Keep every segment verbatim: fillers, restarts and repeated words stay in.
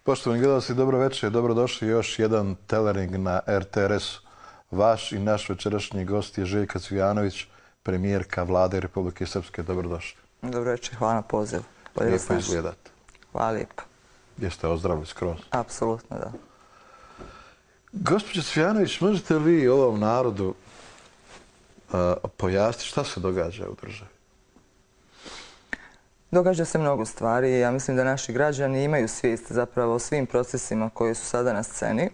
Poštovani gledalci, dobro večer, dobrodošli još jedan Telering na er te er es-u. Vaš i naš večerašnji gost je Željka Cvijanović, premijerka Vlade Republike Srpske. Dobrodošli. Dobro večer, hvala na pozivu. Lijepo izgledate. Hvala lijepo. Jeste ozdravili skroz? Apsolutno, da. Gospođo Cvijanović, možete li vi ovom narodu uh, pojasniti šta se događa u državi? Događa se mnogo stvari i ja mislim da naši građani imaju svijest zapravo o svim procesima koji su sada na sceni.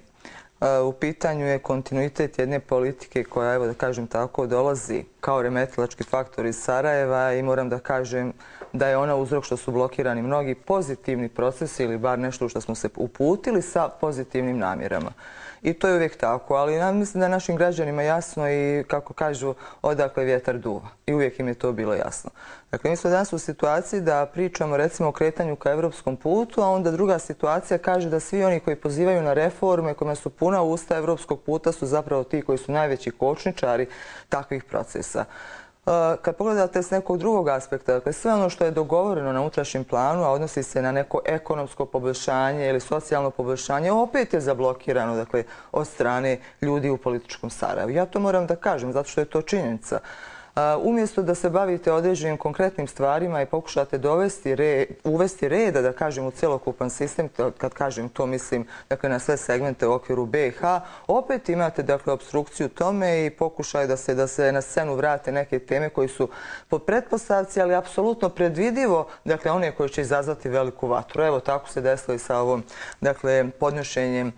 U pitanju je kontinuitet jedne politike koja, evo da kažem tako, dolazi kao remetilački faktor iz Sarajeva i moram da kažem da je ona uzrok što su blokirani mnogi pozitivni procesi ili bar nešto što smo se uputili sa pozitivnim namjerama. I to je uvijek tako, ali ja mislim da je našim građanima jasno i, kako kažu, odakle vjetar duva. I uvijek im je to bilo jasno. Dakle, mi smo danas u situaciji da pričamo recimo o kretanju ka evropskom putu, a onda druga situacija kaže da svi oni koji pozivaju na reforme, kojima su puna usta evropskog puta, su zapravo ti koji su najveći kočničari takvih procesa. Kad pogledate s nekog drugog aspekta, dakle, sve ono što je dogovoreno na unutrašnjem planu, a odnosi se na neko ekonomsko poboljšanje ili socijalno poboljšanje, opet je zablokirano, dakle, od strane ljudi u političkom Sarajevu. Ja to moram da kažem, zato što je to činjenica. Umjesto da se bavite određenim konkretnim stvarima i pokušate dovesti red, uvesti reda, da kažem, u cjelokupan sistem, kad kažem to mislim, dakle, na sve segmente u okviru be i ha, opet imate, dakle, obstrukciju tome i pokušaj da se, da se na scenu vrate neke teme koji su po pretpostavci, ali apsolutno predvidivo, dakle, one koje će izazvati veliku vatru. Evo, tako se desilo i sa ovom, dakle, podnošenjem uh,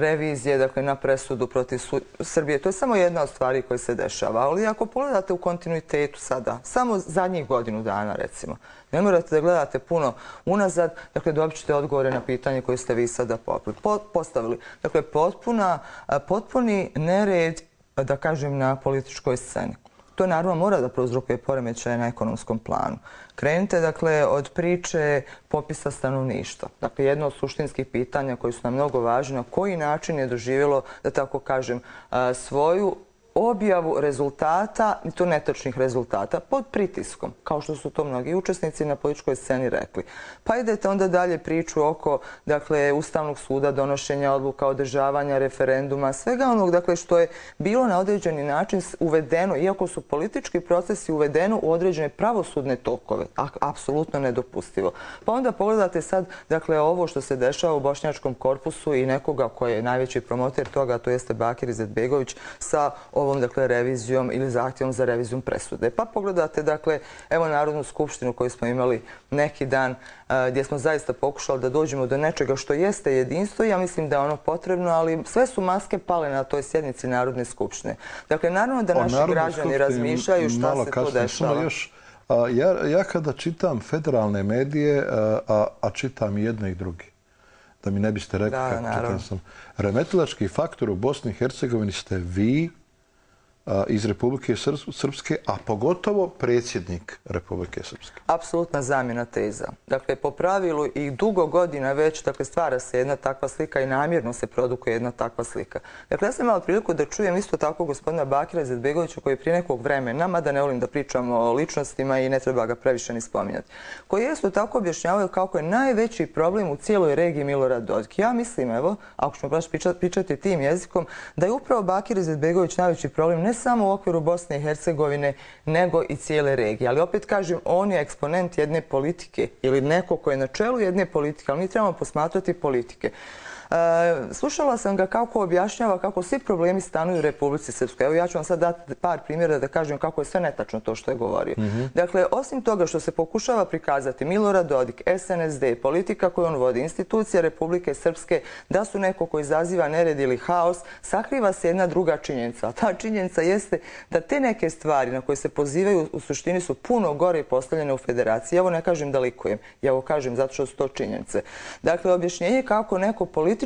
revizije, dakle, na presudu protiv Srbije. To je samo jedna od stvari koja se dešava, ali ako pogledate u kontinuitetu sada, samo zadnjih godinu dana recimo. Ne morate da gledate puno unazad, dakle dobit ćete odgovore na pitanje koje ste vi sada postavili. Dakle, potpuna, potpuni nered, da kažem, na političkoj sceni. To naravno mora da prouzrokuje poremećaje na ekonomskom planu. Krenite, dakle, od priče popisa stanovništva. Dakle, jedno od suštinskih pitanja koji su nam mnogo važni, na koji način je doživjelo, da tako kažem, svoju objavu rezultata, i to netočnih rezultata, pod pritiskom, kao što su to mnogi učesnici na političkoj sceni rekli. Pa idete onda dalje priču oko, dakle, Ustavnog suda, donošenja odluka, održavanja referenduma, svega onog, dakle, što je bilo na određeni način uvedeno, iako su politički procesi uvedeno u određene pravosudne tokove, apsolutno nedopustivo. Pa onda pogledate sad, dakle, ovo što se dešava u bošnjačkom korpusu i nekoga koji je najveći promoter toga, to jeste Bakir Izetbegović, sa ovom, dakle, revizijom ili zahtjevom za revizijom presude. Pa pogledate, dakle, evo Narodnu skupštinu koju smo imali neki dan, gdje smo zaista pokušali da dođemo do nečega što jeste jedinstvo i ja mislim da je ono potrebno, ali sve su maske pale na toj sjednici Narodne skupštine. Dakle, naravno da naši građani razmišljaju šta se tu dešava. Ja, ja kada čitam federalne medije, a, a čitam i jedne i druge, da mi ne biste rekli kako čitam sam, remetilački faktor u Bosni i Hercegovini ste vi, iz Republike Srpske, a pogotovo predsjednik Republike Srpske. Apsolutna zamjena teza. Dakle, po pravilu i dugo godina već, dakle, stvara se jedna takva slika i namjerno se produkuje jedna takva slika. Dakle, ja sam imala priliku da čujem isto tako gospodina Bakira Izetbegovića koji je prije nekog vremena, mada ne volim da pričam o ličnostima i ne treba ga previše ni spominjati, koji je isto tako objašnjavaju kako je najveći problem u cijeloj regiji Milorad Dodik. Ja mislim, evo, ako ćemo baš pričati tim jezikom, da je upravo Bakir Izetbegović najveći problem ne samo u okviru Bosne i Hercegovine, nego i cijele regije. Ali opet kažem, on je eksponent jedne politike ili neko ko je na čelu jedne politike, ali mi trebamo posmatrati politike. Slušala sam ga kako objašnjava kako svi problemi stanuju u Republici Srpskoj. Evo ja ću vam sad dati par primjera da kažem kako je sve netačno to što je govorio. Dakle, osim toga što se pokušava prikazati Milorad Dodik, es en es de, politika koju on vodi, institucija Republike Srpske, da su neko koji izaziva nered ili haos, sakriva se jedna druga činjenica. A ta činjenica jeste da te neke stvari na koje se pozivaju u suštini su puno gore postavljene u federaciji. Evo ne kažem da likujem, ja ovo kažem zato što su to činjenice. Dakle, objašnjenje kako neko političkim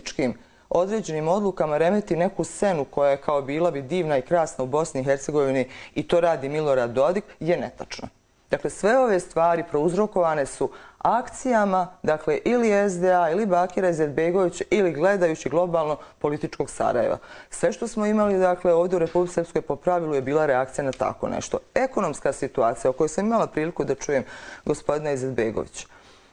određenim odlukama remeti neku scenu koja je kao bila bi divna i krasna u Bosni i Hercegovini i to radi Milorad Dodik je netačno. Dakle, sve ove stvari prouzrokovane su akcijama, dakle, ili es de a, ili Bakira Izetbegovića, ili gledajući globalno političkog Sarajeva. Sve što smo imali, dakle, ovdje u Republici Srpskoj po pravilu je bila reakcija na tako nešto. Ekonomska situacija o kojoj sam imala priliku da čujem gospodina Izetbegovića.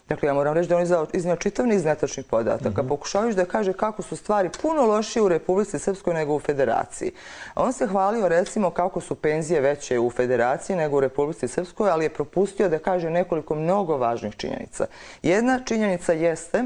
Dakle, ja moram reći da on je iznio čitav niz netačnih podataka. Pokušavajući da kaže kako su stvari puno lošije u Republici Srpskoj nego u Federaciji. On se hvalio recimo kako su penzije veće u Federaciji nego u Republici Srpskoj, ali je propustio da kaže nekoliko mnogo važnih činjenica. Jedna činjenica jeste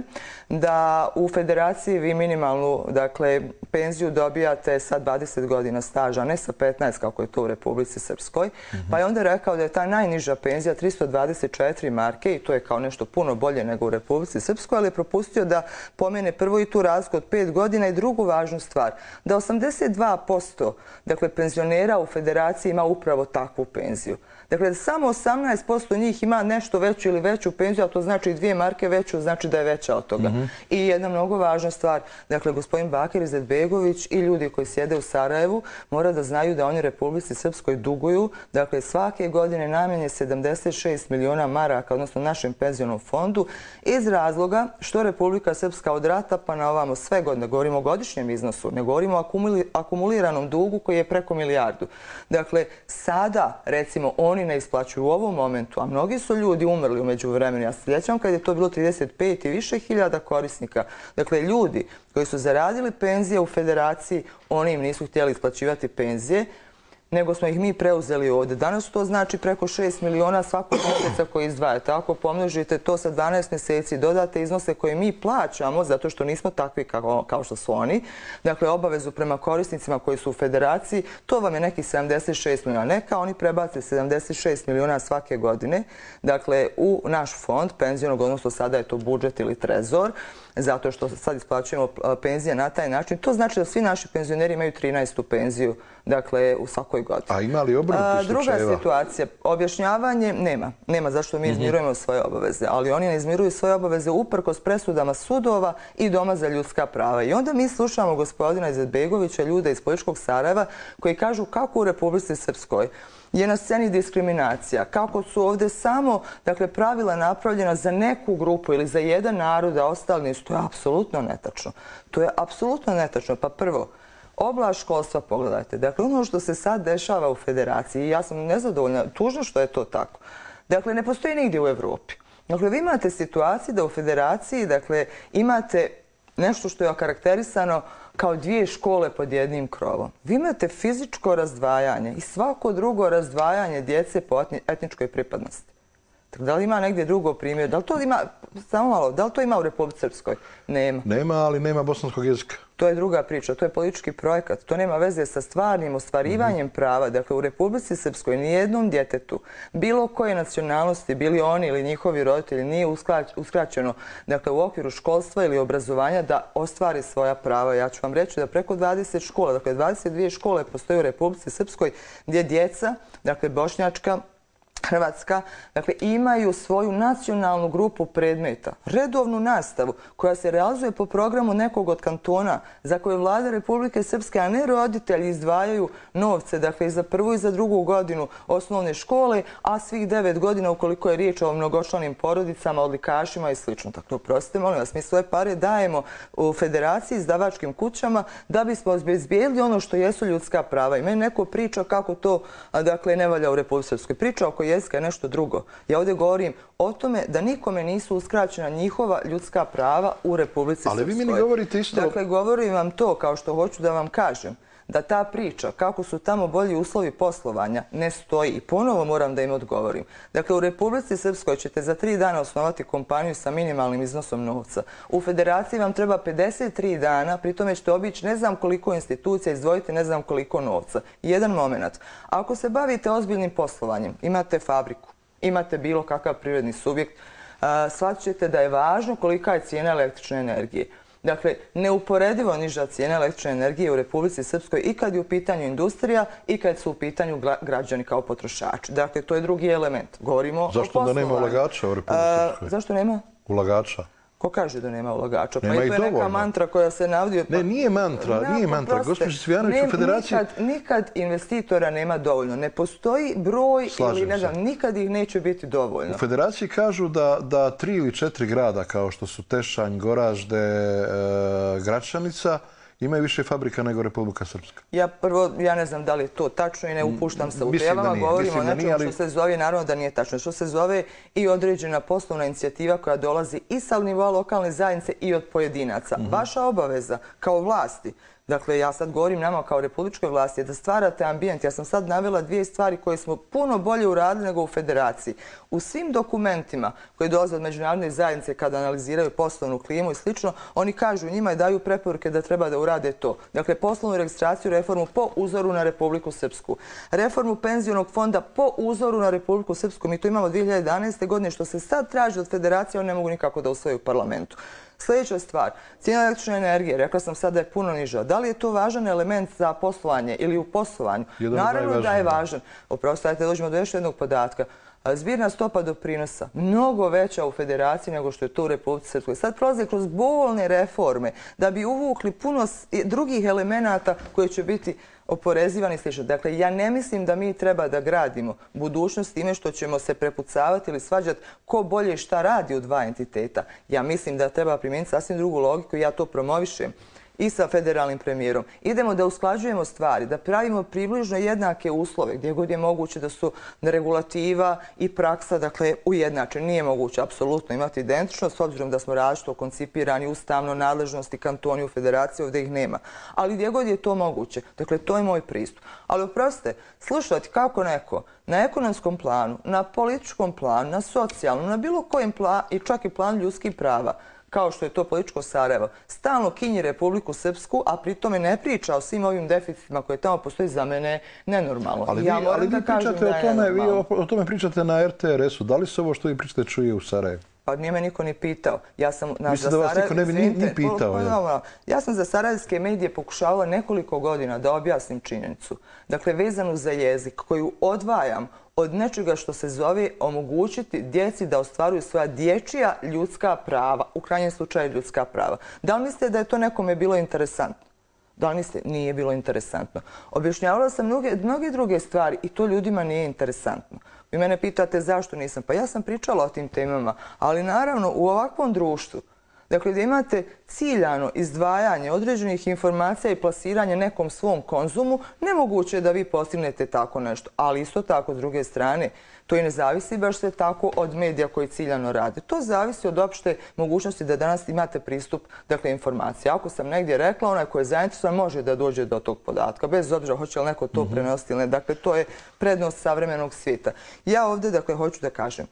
da u Federaciji vi minimalnu, dakle, penziju dobijate sa dvadeset godina staža, a ne sa petnaest kako je to u Republici Srpskoj. Pa je onda rekao da je ta najniža penzija tristo dvadeset četiri marke i to je kao nešto puno bolje nego u Republici Srpskoj, ali je propustio da pomene prvo i tu razliku od pet godina i drugu važnu stvar, da osamdeset dva posto dakle, penzionera u Federaciji ima upravo takvu penziju. Dakle, samo osamnaest posto njih ima nešto veću ili veću penziju, a to znači dvije marke veću, znači da je veća od toga. I jedna mnogo važna stvar, dakle, gospodin Bakir Izetbegović i ljudi koji sjede u Sarajevu mora da znaju da oni Republici Srpskoj duguju, dakle, svake godine najmanje sedamdeset šest miliona maraka, odnosno našem penzionom fondu, iz razloga što Republika Srpska od rata pa na ovamo sve godine, govorimo o godišnjem iznosu, ne govorimo o akumuliranom dugu koji je preko milijardu. Dakle, sada, recimo, oni ne isplaćuju u ovom momentu, a mnogi su ljudi umrli umeđu vremenu. Ja se sjećam kad je to bilo trideset pet i više hiljada korisnika. Dakle, ljudi koji su zaradili penzije u Federaciji, oni im nisu htjeli isplaćivati penzije, nego smo ih mi preuzeli ovdje. Danas to znači preko šest miliona svakog mjeseca koji izdvajate. Ako pomnožite to sa dvanaest mjeseci, dodate iznose koje mi plaćamo, zato što nismo takvi kao, kao što su oni, dakle obavezu prema korisnicima koji su u Federaciji, to vam je neki sedamdeset šest miliona. Neka oni prebace sedamdeset šest miliona svake godine, dakle u naš fond penzionog, odnosno sada je to budžet ili trezor, zato što sad isplaćujemo penzije na taj način. To znači da svi naši penzioneri imaju trinaestu penziju, dakle, u svakoj godini. A ima li obrnutih slučajeva? Druga situacija, objašnjavanje nema. Nema zašto mi izmirujemo svoje obaveze, ali oni ne izmiruju svoje obaveze uprkos presudama sudova i Doma za ljudska prava. I onda mi slušamo gospodina Izetbegovića, ljude iz političkog Sarajeva, koji kažu kako u Republici Srpskoj je na sceni diskriminacija, kako su ovdje samo, dakle, pravila napravljena za neku grupu ili za jedan narod, a ostali nisu. To je apsolutno netačno. To je apsolutno netačno. Pa prvo, oblast školstva, pogledajte. Dakle, ono što se sad dešava u Federaciji, ja sam nezadovoljna, tužno što je to tako. Dakle, ne postoji nigdje u Evropi. Dakle, vi imate situaciju da u Federaciji, dakle, imate nešto što je okarakterisano kao dvije škole pod jednim krovom. Vi imate fizičko razdvajanje i svako drugo razdvajanje djece po etničkoj pripadnosti. Da li ima negdje drugo primjer? Da li to ima, samo malo, da li to ima u Republici Srpskoj? Nema. Nema, ali nema bosanskog jezika. To je druga priča, to je politički projekat. To nema veze sa stvarnim ostvarivanjem prava. Dakle, u Republici Srpskoj nijednom djetetu, bilo koje nacionalnosti, bili oni ili njihovi roditelji, nije uskraćeno, dakle, u okviru školstva ili obrazovanja da ostvari svoja prava. Ja ću vam reći da preko dvadeset škola, dakle, dvadeset dvije škole postoje u Republici Srpskoj gdje djeca, dakle, bošnjačka, Hrvatska, dakle, imaju svoju nacionalnu grupu predmeta, redovnu nastavu koja se realizuje po programu nekog od kantona za koje vlada Republike Srpske, a ne roditelji izdvajaju novce, dakle, i za prvu i za drugu godinu osnovne škole, a svih devet godina ukoliko je riječ o mnogočlanim porodicama, odlikašima i sl. Dakle, oprostite, molim vas, mi svoje pare dajemo u Federaciji, izdavačkim kućama, da bismo obezbijedili ono što jesu ljudska prava. I meni neko priča kako to, dakle, ne valja u Republici Srpskoj. Priča oko jezika je nešto drugo. Ja ovdje govorim o tome da nikome nisu uskraćena njihova ljudska prava u Republici Srpskoj. Ali vi mi ne govorite isto... Dakle, govorim vam to kao što hoću da vam kažem, da ta priča, kako su tamo bolji uslovi poslovanja, ne stoji. I ponovo moram da im odgovorim. Dakle, u Republici Srpskoj ćete za tri dana osnovati kompaniju sa minimalnim iznosom novca. U Federaciji vam treba pedeset tri dana, pri tome ćete obići ne znam koliko institucija, izdvojiti ne znam koliko novca. Jedan moment. Ako se bavite ozbiljnim poslovanjem, imate fabriku, imate bilo kakav privredni subjekt, shvatit ćete da je važno kolika je cijena električne energije. Dakle, neuporedivo niža cijena električne energije u Republici Srpskoj i kad je u pitanju industrija i kad su u pitanju građani kao potrošači. Dakle, to je drugi element. Govorimo o poslovanju. Zašto da nema ulagača u Republici Srpskoj? Zašto nema? Ulagača. Ko kaže da nema ulagača? Pa i to je neka mantra koja se navodi... Ne, nije mantra, nije mantra. Gospođo Cvijanović, u Federaciji... Nikad investitora nema dovoljno. Ne postoji broj ili ne znam, nikad ih neće biti dovoljno. U Federaciji kažu da tri ili četiri grada kao što su Tešanj, Goražde, Gračanica imaju više fabrika nego Republika Srpska. Ja prvo, ja ne znam da li je to tačno i ne upuštam se u temama, govorimo o nečemu što se zove, naravno da nije tačno, što se zove i određena poslovna inicijativa koja dolazi i sa nivoa lokalne zajednice i od pojedinaca. Vaša obaveza kao vlasti, dakle, ja sad govorim nama kao republičkoj vlasti, da stvarate ambijent. Ja sam sad navela dvije stvari koje smo puno bolje uradili nego u federaciji. U svim dokumentima koji dolaze od međunarodne zajednice kada analiziraju poslovnu klimu i slično, oni kažu njima i daju preporuke da treba da urade to. Dakle, poslovnu registraciju, reformu po uzoru na Republiku Srpsku. Reformu penzionog fonda po uzoru na Republiku Srpsku. Mi to imamo dvije hiljade jedanaeste. godine. Što se sad traži od federacije, oni ne mogu nikako da usvoje u parlamentu. Sljedeća stvar, cijena električne energije, rekla sam sad da je puno niža. Da li je to važan element za poslovanje ili u poslovanju? Naravno da je važan. Oprostite, dođemo do još jednog podatka. Zbirna stopa doprinosa mnogo veća u federaciji nego što je to u Republici Srpskoj. Sad prolaze kroz bolne reforme da bi uvukli puno drugih elemenata koji će biti oporezivani i slično. Dakle, ja ne mislim da mi treba da gradimo budućnost time što ćemo se prepucavati ili svađati ko bolje i šta radi u dva entiteta. Ja mislim da treba primijeniti sasvim drugu logiku i ja to promovišem i sa federalnim premijerom. Idemo da usklađujemo stvari, da pravimo približno jednake uslove, gdje god je moguće da su regulativa i praksa, dakle, ujednačene. Nije moguće apsolutno imati identično, s obzirom da smo različito koncipirani ustavno, nadležnosti, kantoni u federaciji, ovdje ih nema. Ali gdje god je to moguće. Dakle, to je moj pristup. Ali oprostite, slušati kako neko na ekonomskom planu, na političkom planu, na socijalnom, na bilo kojem planu i čak i planu ljudskih prava, kao što je to političko Sarajevo, stalno kinji Republiku Srpsku, a pritome ne priča o svim ovim deficitima koje tamo postoji, za mene nenormalno. Ali vi, ali vi pričate o tome, vi o tome pričate na er te er esu. Da li se ovo što vi pričate čuje u Sarajevu? Pa nije me niko ni pitao. Ja sam Mislim da vas niko ne bi ni pitao. Ja sam za sarajevske medije pokušavala nekoliko godina da objasnim činjenicu. Dakle, vezanu za jezik koju odvajam od nečega što se zove omogućiti djeci da ostvaruju svoja dječja ljudska prava, u krajnjem slučaju ljudska prava. Da li mislite da je to nekome bilo interesantno? Da li mislite? Nije bilo interesantno. Objašnjavala sam mnoge, mnoge druge stvari i to ljudima nije interesantno. Vi mene pitate zašto nisam. Pa ja sam pričala o tim temama, ali naravno u ovakvom društvu, dakle, gdje imate ciljano izdvajanje određenih informacija i plasiranje nekom svom konzumu, nemoguće je da vi postignete tako nešto. Ali isto tako, s druge strane, to i ne zavisi baš sve tako od medija koji ciljano rade. To zavisi od opšte mogućnosti da danas imate pristup, dakle, informacija. Ako sam negdje rekla, onaj koji je zainteresovan može da dođe do tog podatka, bez obzira hoće li neko to prenositi ili ne. Dakle, to je prednost savremenog svijeta. Ja ovdje, dakle, hoću da kažem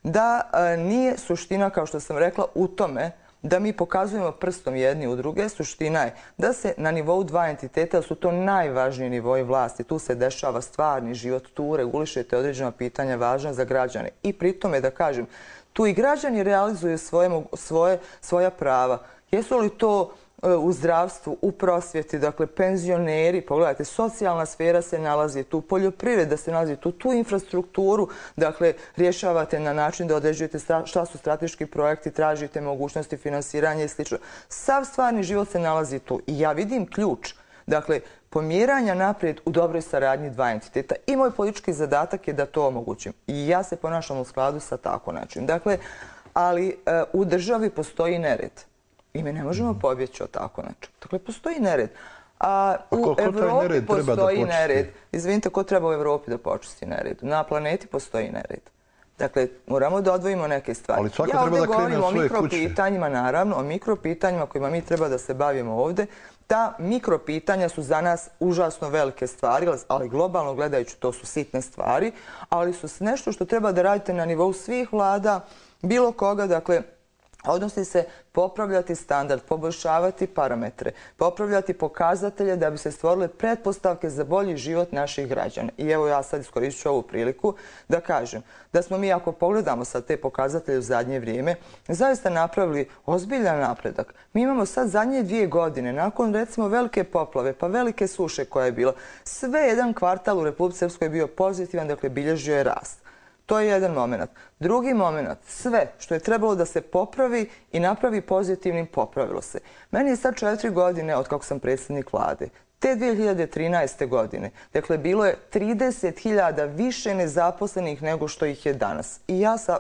da nije suština, kao što sam rekla, u tome da mi pokazujemo prstom jedni u druge. Suština je da se na nivou dva entiteta, su to najvažniji nivoi vlasti, tu se dešava stvarni život, tu regulišete određena pitanja važna za građane. I pritome, da kažem, tu i građani realizuju svoje, svoje, svoja prava. Jesu li to u zdravstvu, u prosvjeti, dakle, penzioneri, pogledajte, socijalna sfera se nalazi tu, poljoprivreda se nalazi tu, tu infrastrukturu, dakle, rješavate na način da određujete šta su strateški projekti, tražite mogućnosti finansiranja i sl. Sav stvarni život se nalazi tu. I ja vidim ključ, dakle, pomjeranja naprijed u dobroj saradnji dva entiteta. I moj politički zadatak je da to omogućim. I ja se ponašam u skladu sa tako način. Dakle, ali u državi postoji nered. I mi ne možemo pobjeći od tako nečeg. Dakle, postoji nered. A u Evropi postoji nered. Izvinite, ko treba u Evropi da počisti nered? Na planeti postoji nered. Dakle, moramo da odvojimo neke stvari. Ali svako treba da krene od svoje kuće. Ja ovdje govorim o mikropitanjima, naravno, o mikropitanjima kojima mi treba da se bavimo ovdje. Ta mikropitanja su za nas užasno velike stvari, ali globalno gledajući to su sitne stvari, ali su nešto što treba da radite na nivou svih vlada, bilo koga, dakle, odnosi se popravljati standard, poboljšavati parametre, popravljati pokazatelje da bi se stvorile pretpostavke za bolji život naših građana. I evo ja sad iskoristit ću ovu priliku da kažem da smo mi, ako pogledamo sad te pokazatelje u zadnje vrijeme, zaista napravili ozbiljan napredak. Mi imamo sad zadnje dvije godine, nakon recimo velike poplave, pa velike suše koja je bila, sve jedan kvartal u Republici Srpskoj je bio pozitivan, dakle bilježio je rast. To je jedan moment. Drugi moment, sve što je trebalo da se popravi i napravi pozitivnim, popravilo se. Meni je sad četiri godine od kako sam predsjednik vlade. Te dvije hiljade trinaeste. godine, dakle, bilo je trideset hiljada više nezaposlenih nego što ih je danas. I ja sa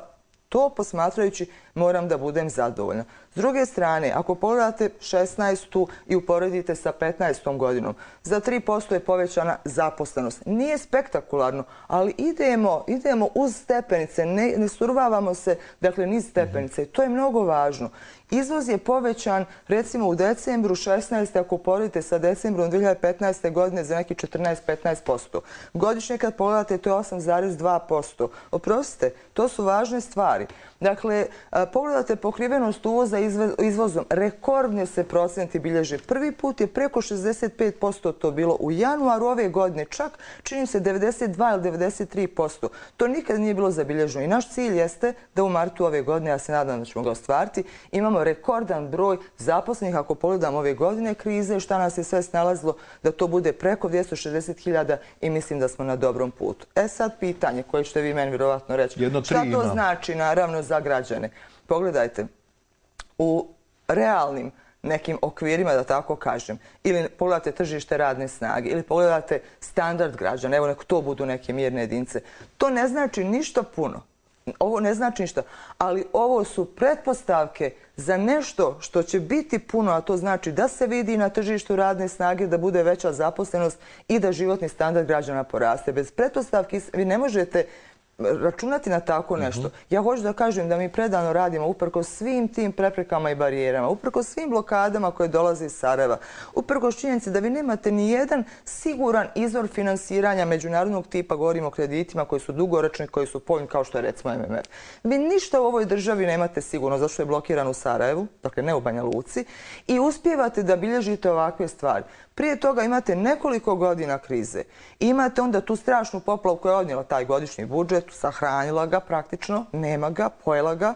to posmatrajući moram da budem zadovoljna. S druge strane, ako pogledate šesnaestu i uporedite sa petnaestom godinom, za tri posto je povećana zaposlenost. Nije spektakularno, ali idemo, idemo uz stepenice, ne, ne survavamo se, dakle, niz stepenice. To je mnogo važno. Izvoz je povećan, recimo u decembru šesnaeste. ako poredite sa decembrom dve hiljade petnaeste. godine za neki četrnaest do petnaest posto. Godišnje kad pogledate to je osam zarez dva posto. Oprostite, to su važne stvari. Dakle, pogledate pokrivenost uvoza izvozom, rekordne se procenti bilježe. Prvi put je preko šezdeset pet posto to bilo u januaru ove godine, čak čini se devedeset dva ili devedeset tri posto. To nikad nije bilo zabilježeno i naš cilj jeste da u martu ove godine, ja se nadam da ćemo ga ostvariti, imamo rekordan broj zaposlenih, ako pogledamo ove godine krize, šta nas je sve snalazilo, da to bude preko dvjesto šezdeset hiljada i mislim da smo na dobrom putu. E sad pitanje koje ćete vi meni vjerovatno reći. Šta to znači naravno za građane? Pogledajte, u realnim nekim okvirima, da tako kažem, ili pogledate tržište radne snage, ili pogledate standard građana, evo nek to budu neke mjerne jedinice, to ne znači ništa puno. Ovo ne znači ništa, ali ovo su pretpostavke za nešto što će biti puno, a to znači da se vidi na tržištu radne snage, da bude veća zaposlenost i da životni standard građana poraste. Bez pretpostavki vi ne možete računati na tako nešto. Ja hoću da kažem da mi predano radimo uprkos svim tim preprekama i barijerama, uprkos svim blokadama koje dolaze iz Sarajeva, uprkos činjenici da vi nemate ni jedan siguran izvor finansiranja međunarodnog tipa, govorimo o kreditima koji su dugoročni, koji su povoljni kao što je recimo M M F. Vi ništa u ovoj državi nemate sigurno, zašto je blokiran u Sarajevu, dakle ne u Banja Luci, i uspijevate da bilježite ovakve stvari. Prije toga imate nekoliko godina krize. Imate onda tu strašnu poplavu koja je odnijela taj godišnji budžet, sahranila ga praktično, nema ga, pojela ga.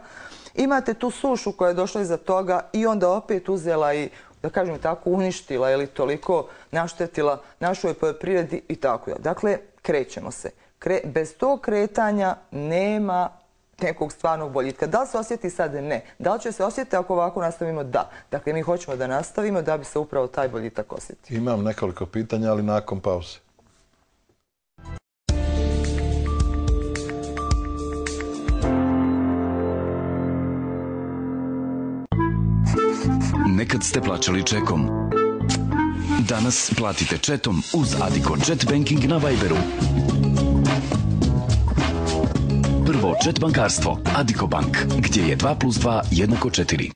Imate tu sušu koja je došla iza toga i onda opet uzela i, da kažem tako, uništila ili toliko naštetila našoj poljoprivredi i tako. Dakle, krećemo se. Bez tog kretanja nema nekog stvarnog boljitka. Da li se osjeti sad? Ne. Da li će se osjetiti ako ovako nastavimo? Da. Dakle, mi hoćemo da nastavimo da bi se upravo taj boljitak osjetio. Imam nekoliko pitanja, ali nakon pauze. Nekad ste plaćali čekom. Danas platite četom uz Addiko Jet Banking na Viberu. Prvo Jet bankarstvo, Addiko Bank, gdje je dva plus dva jednako četiri.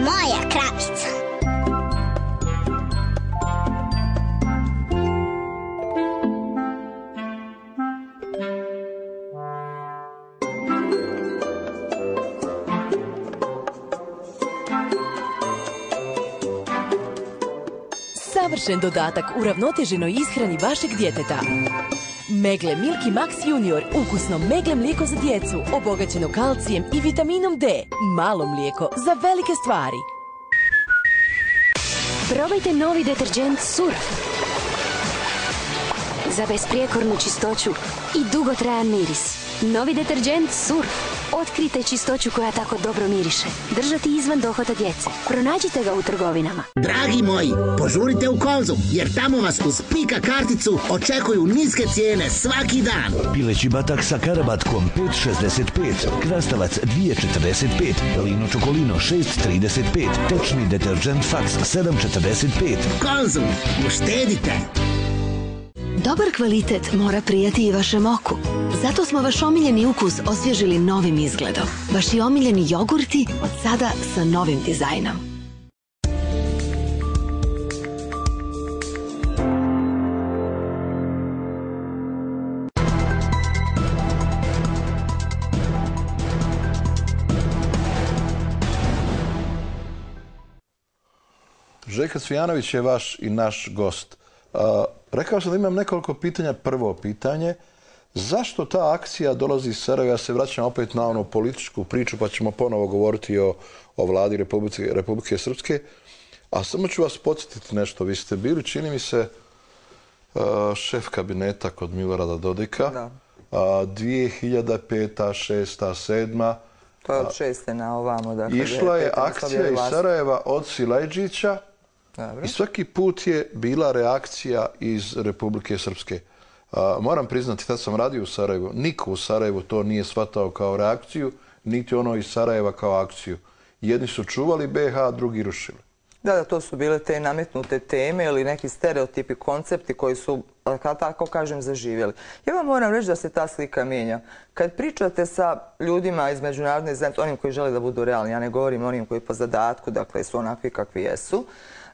Moja kravica. Savršen dodatak uravnoteženoj ishrani vašeg djeteta. Megle Milky Max Junior, ukusno megle mlijeko za djecu, obogaćeno kalcijem i vitaminom D. Malo mlijeko za velike stvari. Probajte novi deterđent Surf. Za besprijekornu čistoću i dugotrajan miris. Novi deterđent Surf. Otkrijte čistoću koja tako dobro miriše. Držati izvan dohvata djece. Pronađite ga u trgovinama. Dragi moji, požurite u Konzum, jer tamo vas uz Pika karticu očekuju niske cijene svaki dan. Pileći batak sa karabatkom pet šezdeset pet, krastavac dvije četrdeset pet, Lino Čokolino šest trideset pet, tečni deterđent Fax sedam četrdeset pet. Konzum, uštedite! Dobar kvalitet mora prijati i vašem oku. Zato smo vaš omiljeni ukus osvježili novim izgledom. Vaši omiljeni jogurti od sada sa novim dizajnom. Željko Cvijanović je vaš i naš gost. Rekao sam da imam nekoliko pitanja. Prvo pitanje, zašto ta akcija dolazi iz Sarajeva? Ja se vraćam opet na onu političku priču, pa ćemo ponovo govoriti o, o vladi Republike, Republike Srpske. A samo ću vas podsjetiti nešto. Vi ste bili, čini mi se, šef kabineta kod Milorada Dodika. dvije hiljade peta, šesta, sedma. To je od šeste na ovamo. Išla je akcija iz Sarajeva od Silajđića i svaki put je bila reakcija iz Republike Srpske. Moram priznati, tad sam radio u Sarajevu. Niko u Sarajevu to nije shvatao kao reakciju, niti ono iz Sarajeva kao akciju. Jedni su čuvali be ha, drugi rušili. Da, da, to su bile te nametnute teme ili neki stereotipi, koncepti koji su, tako kažem, zaživjeli. Ja vam moram reći da se ta slika mijenja. Kad pričate sa ljudima iz međunarodne zajednice, onim koji žele da budu realni, ja ne govorim onim koji po zadatku, dakle, su onakvi kakvi jesu.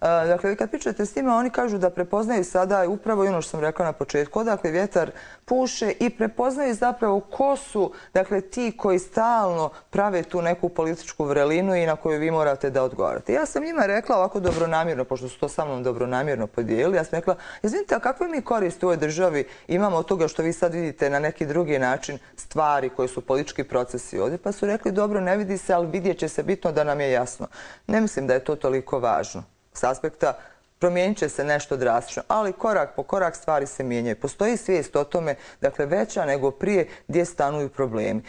Dakle, kad pričate s njima, oni kažu da prepoznaju sada upravo ono što sam rekla na početku, odakle vjetar puše i prepoznaju zapravo ko su, dakle, ti koji stalno prave tu neku političku vrelinu i na koju vi morate da odgovarate. Ja sam njima rekla ovako dobronamjerno, pošto su to sa mnom dobronamjerno podijelili, ja sam rekla, izvinite, a kakve mi koriste u ovoj državi imamo od toga što vi sad vidite na neki drugi način stvari koje su politički procesi ovdje? Pa su rekli, dobro, ne vidi se, ali vidjet će se, bitno da nam je jasno. Ne mislim da je to toliko važno. S aspekta promijenit će se nešto drastično, ali korak po korak stvari se mijenjaju. Postoji svijest o tome, dakle, veća nego prije gdje stanuju problemi.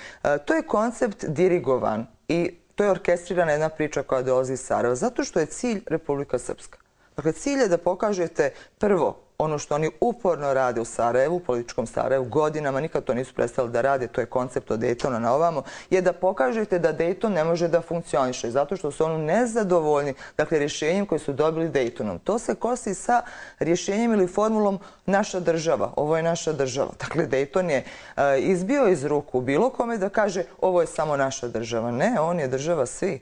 To je koncept dirigovan i to je orkestrirana jedna priča koja dolazi iz Sarajeva, zato što je cilj Republika Srpska. Dakle, cilj je da pokažete prvo ono što oni uporno rade u Sarajevu, u političkom Sarajevu, godinama, nikad to nisu prestali da rade, to je koncept od Daytona na ovamo, je da pokažete da Dayton ne može da funkcioniše, zato što su oni nezadovoljni, dakle, rješenjem koje su dobili Daytonom. To se kosi sa rješenjem ili formulom naša država, ovo je naša država. Dakle, Dayton je izbio iz ruku bilo kome da kaže ovo je samo naša država. Ne, on je država svi.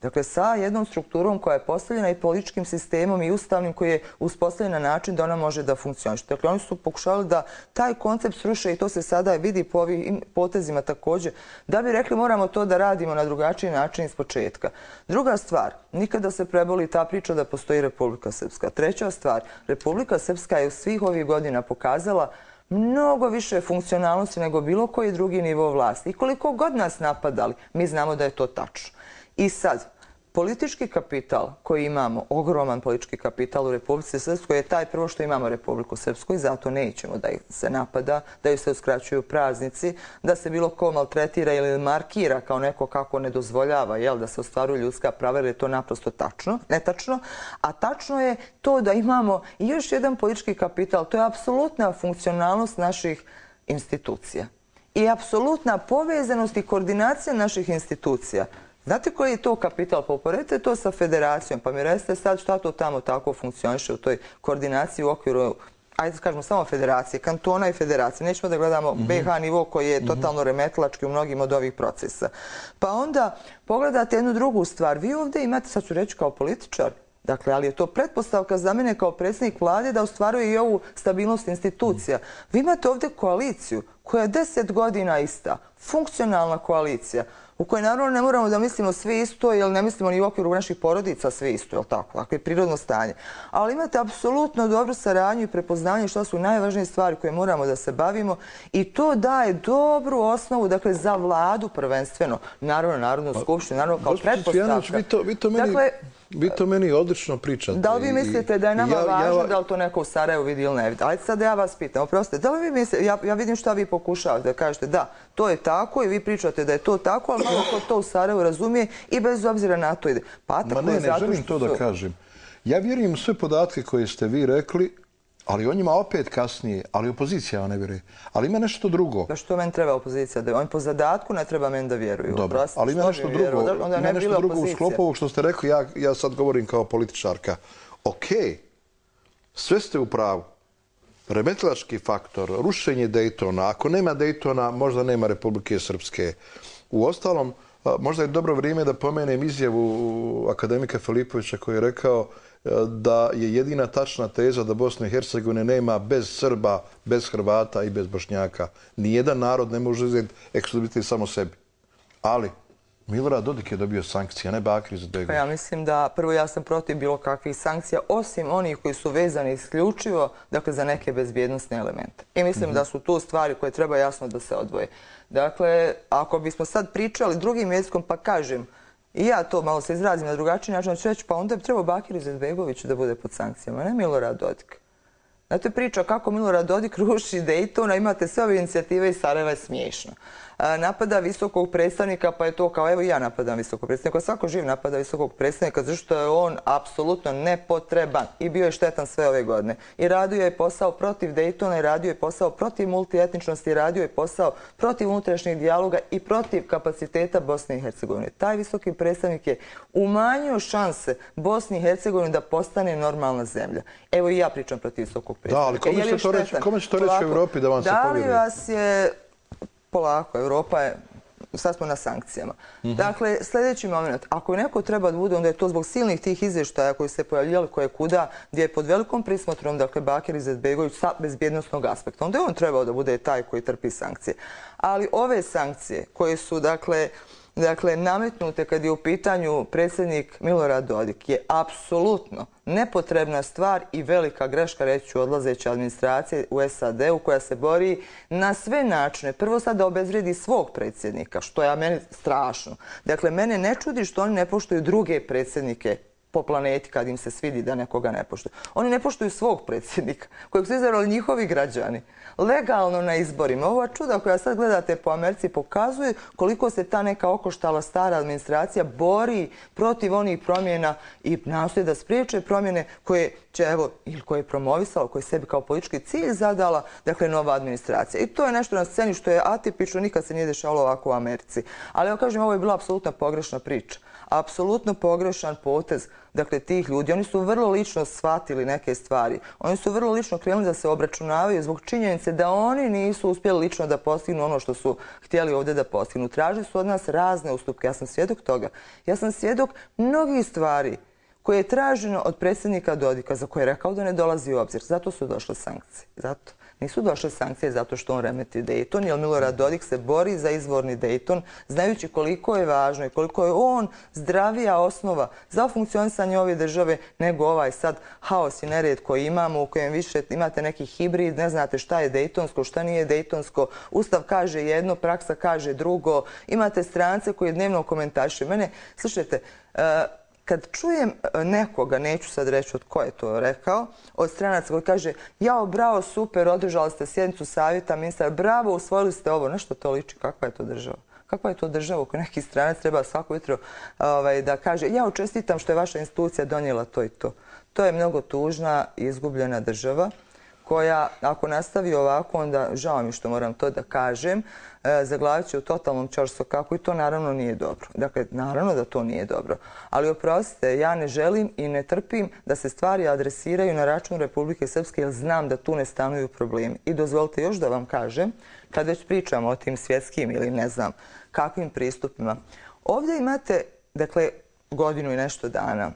Dakle, sa jednom strukturom koja je postavljena i političkim sistemom i ustavnim koji je uspostavljen na način da ona može da funkcioniše. Dakle, oni su pokušali da taj koncept sruše i to se sada vidi po ovim potezima također, da bi rekli moramo to da radimo na drugačiji način iz početka. Druga stvar, nikada se preboli ta priča da postoji Republika Srpska. Treća stvar, Republika Srpska je u svih ovih godina pokazala mnogo više funkcionalnosti nego bilo koji drugi nivo vlasti. I koliko god nas napadali, mi znamo da je to tačno. I sad, politički kapital koji imamo, ogroman politički kapital u Republici Srpskoj je taj prvo što imamo Republiku Srpsku i zato nećemo da ih se napada, da ih se uskraćuju praznici, da se bilo ko maltretira ili markira kao neko kako ne dozvoljava jel, da se ostvaruju ljudska prava, jer je to naprosto tačno, netačno. A tačno je to da imamo i još jedan politički kapital, to je apsolutna funkcionalnost naših institucija i apsolutna povezanost i koordinacija naših institucija. Znate koji je to kapital? Pa uporedite to sa federacijom, pa mi recite sad šta to tamo tako funkcioniše u toj koordinaciji u okviru, ajde kažemo samo federacije, kantona i federacije. Nećemo da gledamo be ha nivo koji je totalno remetilački u mnogim od ovih procesa. Pa onda pogledate jednu drugu stvar. Vi ovdje imate, sad ću reći kao političar, dakle, ali je to pretpostavka za mene kao predsjednik vlade da ostvaruje i ovu stabilnost institucija. Vi imate ovdje koaliciju koja je deset godina ista, funkcionalna koalicija, u kojoj naravno ne moramo da mislimo sve isto, jer ne mislimo ni u okviru naših porodica sve isto, jel tako? Dakle, prirodno stanje. Ali imate apsolutno dobru saradnju i prepoznanje što su najvažnije stvari koje moramo da se bavimo i to daje dobru osnovu, dakle, za vladu prvenstveno, naravno, Narodnu skupštinu, naravno kao pretpostavka. Vi to meni... Vi to meni odlično pričate. Da li vi mislite da je nama važno da li to neko u Sarajevu vidi ili ne vidi? Ajde sad da ja vas pitam, oprostite, da li vi mislite, ja vidim šta vi pokušavate da kažete da, to je tako i vi pričate da je to tako, ali malo ko to u Sarajevu razumije i bez obzira na to ide. Ma ne, ne želim to da kažem. Ja vjerujem sve podatke koje ste vi rekli, ali o njima opet kasnije, ali opozicija ne vjeruje. Ali ima nešto drugo. Da što meni treba opozicija? Da on po zadatku ne treba meni da vjeruju. Dobro, ali ima nešto drugo. Ima nešto drugo u sklopu ovog što ste rekli, ja sad govorim kao političarka. Okej, sve ste u pravu. Remetilački faktor, rušenje Daytona. Ako nema Daytona, možda nema Republike Srpske. U ostalom, možda je dobro vrijeme da pomenem izjavu akademika Filipovića koji je rekao da je jedina tačna teza da Bosna i Hercegovina nema bez Srba, bez Hrvata i bez Bošnjaka. Nijedan narod ne može uzeti ekskluzivitet samo sebi. Ali Milorad Dodik je dobio sankcije, a ne Bakir Izetbegović. Ja mislim da prvo ja sam protiv bilo kakvih sankcija, osim onih koji su vezani isključivo dakle, za neke bezbjednostne elemente. I mislim da su tu stvari koje treba jasno da se odvoje. Dakle, ako bismo sad pričali drugim jezikom, pa kažem, I ja to malo se izrazim na drugačiji način, ću reći, pa onda bi trebao Bakir Izetbegović da bude pod sankcijama, ne Milorad Dodik. Znate, priča kako Milorad Dodik ruši Daytona, imate sve ove inicijative iz Sarajeva, je smiješno. Napada visokog predstavnika, pa je to kao, evo i ja napadam visokog predstavnika, svako živ napada visokog predstavnika, zato što je on apsolutno nepotreban i bio je štetan sve ove godine. I radio je posao protiv Daytona, i radio je posao protiv multietničnosti, i radio je posao protiv unutrašnjeg dijaloga i protiv kapaciteta Bosne i Hercegovine. Taj visoki predstavnik je umanjio šanse Bosni i Hercegovine da postane normalna zemlja. Evo i ja pričam protiv visokog predstavnika. Da, ali kome će to reći u Evropi da vam se povjeruje? Da li vas je... Polako, Evropa je, sad smo na sankcijama. Dakle, sljedeći moment, ako je neko treba da bude, onda je to zbog silnih tih izvještaja koji se pojavljali koje kuda, gdje je pod velikom prismotrom, dakle, Bakir Izetbegović sa bezbjednostnog aspekta. Onda je on trebao da bude taj koji trpi sankcije. Ali ove sankcije koje su, dakle, Dakle, nametnute kad je u pitanju predsjednik Milorad Dodik je apsolutno nepotrebna stvar i velika greška, reći ću, odlazeće administracije u S A D-u koja se bori na sve načine. Prvo sad da obezvredi svog predsjednika, što je meni strašno. Dakle, mene ne čudi što oni ne poštuju druge predsjednike po planeti kad im se svidi da nekoga ne poštuju. Oni ne poštuju svog predsjednika, kojeg su izabrali njihovi građani. Legalno na izborima. Ova čuda koja sad gledate po Americi pokazuje koliko se ta neka okoštala stara administracija bori protiv onih promjena i nastoji da spriječe promjene koje će, evo, ili koje je promovisala, koje je sebi kao politički cilj zadala, dakle, nova administracija. I to je nešto na sceni što je atipično, nikad se nije dešavalo ovako u Americi. Ali ja kažem, ovo je bila apsolutno pogrešna priča. Apsolutno pogrešan potez, dakle, tih ljudi. Oni su vrlo lično shvatili neke stvari. Oni su vrlo lično krenuli da se obračunavaju zbog činjenice da oni nisu uspjeli lično da postignu ono što su htjeli ovdje da postignu. Tražili su od nas razne ustupke. Ja sam svjedok toga. Ja sam svjedok mnogih stvari koje je traženo od predsjednika Dodika, za koje je rekao da ne dolazi u obzir. Zato su došle sankcije. Zato. Nisu došle sankcije zato što on remeti Dayton, jer Milorad Dodik se bori za izvorni Dayton, znajući koliko je važno i koliko je on zdravija osnova za funkcionisanje ove države nego ovaj sad haos i nered koji imamo, u kojem više imate neki hibrid, ne znate šta je Daytonsko, šta nije Daytonsko, Ustav kaže jedno, praksa kaže drugo, imate strance koji dnevno komentarišu. Mene, slušajte, kad čujem nekoga, neću sad reći od ko je to rekao, od stranaca koji kaže, jao, bravo, super, održali ste sjednicu savjeta ministara, bravo, usvojili ste ovo. Nešto to liči, kakva je to država? Kakva je to država u kojoj neki stranac treba svako jutro da kaže, ja čestitam što je vaša institucija donijela to i to. To je mnogo tužna i izgubljena država koja, ako nastavi ovako, onda žao mi što moram to da kažem, zaglavit će u totalnom ćorsokaku i to naravno nije dobro. Dakle, naravno da to nije dobro. Ali oprostite, ja ne želim i ne trpim da se stvari adresiraju na račun Republike Srpske, jer znam da tu ne stanuju problemi. I dozvolite još da vam kažem, kad već pričamo o tim svjetskim ili ne znam kakvim pristupima, ovdje imate, dakle, godinu i nešto dana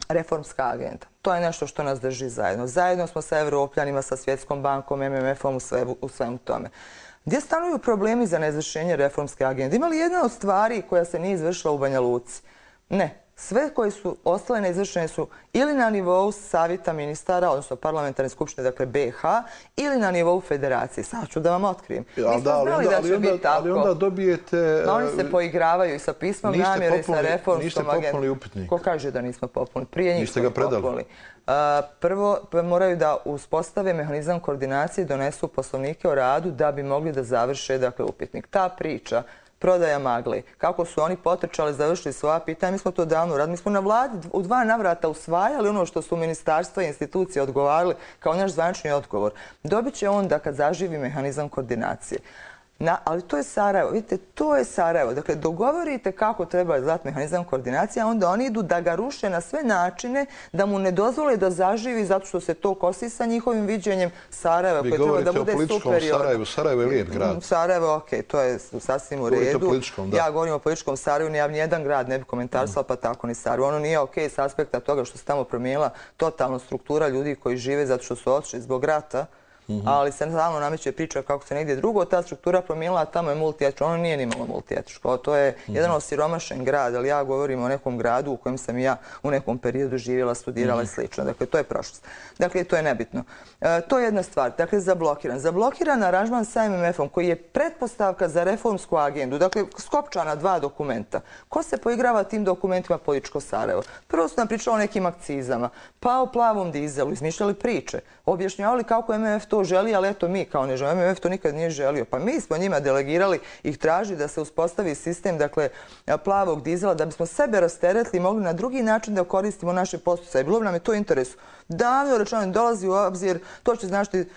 reformska agenda. To je nešto što nas drži zajedno. Zajedno smo sa Evropljanima, sa Svjetskom bankom, M M F-om u svemu tome. Gdje stanuju problemi za neizvršenje reformske agende? Ima li jedna od stvari koja se nije izvršila u Banja Luci? Ne. Sve koje su ostale neizvršene su ili na nivou savjeta ministara, odnosno parlamentarne skupštine, dakle B H, ili na nivou federacije. Sad ću da vam otkrijem. Mi smo znali da će biti tako. Ali onda dobijete... Oni se poigravaju i sa pismom namjere i sa reformskom agendom. Niste popunili upitnik. Ko kaže da nismo popunili? Prije njih smo popunili. Prvo moraju da uspostave mehanizam koordinacije i donesu poslovnike o radu da bi mogli da završe, dakle, upitnik. Ta priča, prodaja magle, kako su oni potrčali, završili svoja pitanja, mi smo to davno uradili. Mi smo na vladi u dva navrata usvajali ono što su ministarstva i institucije odgovarali kao naš zvanični odgovor. Dobit će onda kad zaživi mehanizam koordinacije. Ali to je Sarajevo. Vidite, to je Sarajevo. Dakle, dogovorite kako treba izgledati mehanizam koordinacije, a onda oni idu da ga ruše na sve načine, da mu ne dozvole da zaživi zato što se to kosi sa njihovim viđenjem Sarajeva. Vi govorite o političkom Sarajevu. Sarajevo je lijep grad. Sarajevo, okej, to je sasvim u redu. Ja govorim o političkom Sarajevu, ja nijedan grad ne bi komentarisala, pa tako ni Sarajevo. Ono nije okej s aspekta toga što se tamo promijenila totalno struktura ljudi koji žive zato što su otišli zbog rata ali se stalno nameće priča kako se negdje drugo, ta struktura promijenila, a tamo je multietičko. Ono nije nimalo multietičko. To je jedan osiromašen grad, ali ja govorim o nekom gradu u kojem sam i ja u nekom periodu živjela, studirala i slično. Dakle, to je prošlost. Dakle, to je nebitno. To je jedna stvar. Dakle, zablokiran. Zablokiran aranžman sa M M F-om koji je pretpostavka za reformsku agendu. Dakle, skopčana dva dokumenta. Ko se poigrava tim dokumentima političko Sarajevo? Prvo su nam pričali o nekim akcizama, pa o plavom dizelu, izmišljali priče, objašnjavali kako M M F to želi, ali eto mi kao ne želimo. M M F to nikad nije želio. Pa mi smo njima delegirali, ih traži da se uspostavi sistem, dakle, plavog dizela, da bismo sebe rasteretili i mogli na drugi način da koristimo naše posticaje. Bilo bi nam je to interesu. Davno rečeno dolazi u obzir, to će značiti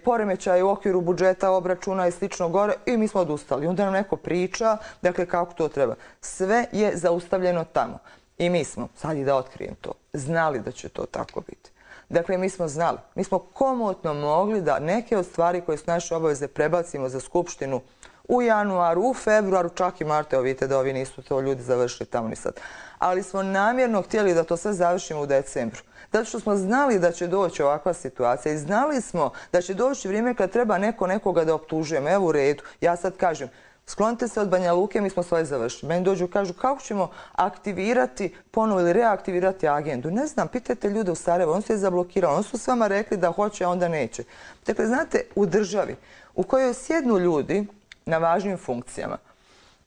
poremećaj u okviru budžeta, obračuna i slično gore i mi smo odustali. Onda nam neko priča, dakle, kako to treba. Sve je zaustavljeno tamo. I mi smo, sad i da otkrijem to, znali da će to tako biti. Dakle, mi smo znali. Mi smo komotno mogli da neke od stvari koje su naše obaveze prebacimo za Skupštinu u januaru, u februaru, čak i martu. Evo vidite da ovi nisu to ljudi završili tamo ni sad. Ali smo namjerno htjeli da to sve završimo u decembru. Zato što smo znali da će doći ovakva situacija i znali smo da će doći vrijeme kad treba neko nekoga da optužujemo. Evo u redu. Ja sad kažem, sklonite se od Banja Luke, mi smo svoje završili. Meni dođu i kažu kako ćemo aktivirati ponovo ili reaktivirati agendu. Ne znam, pitajte ljude u Sarajevu, on se je zablokirao, on su s vama rekli da hoće, a onda neće. Dakle, znate, u državi u kojoj sjednu ljudi na važnim funkcijama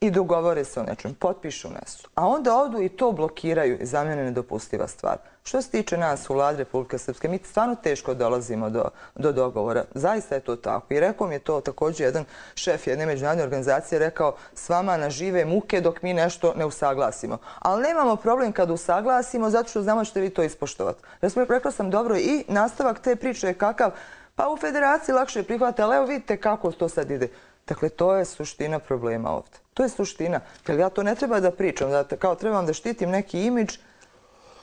i dogovore se o nečem, potpišu nešto, a onda odu i to blokiraju, za mene nedopustiva stvar. Što se tiče nas u Vladi Republike Srpske, mi stvarno teško dolazimo do, do dogovora. Zaista je to tako. I rekao mi je to također jedan šef jedne međunarodne organizacije, rekao s vama na žive muke dok mi nešto ne usaglasimo. Ali nemamo problem kad usaglasimo zato što znamo ćete vi to ispoštovati. Rekao sam dobro i nastavak te priče je kakav, pa u federaciji lakše prihvate, ali evo vidite kako to sad ide. Dakle, to je suština problema ovdje. To je suština. Jer ja to ne treba da pričam, da kao trebam da štitim neki imidž,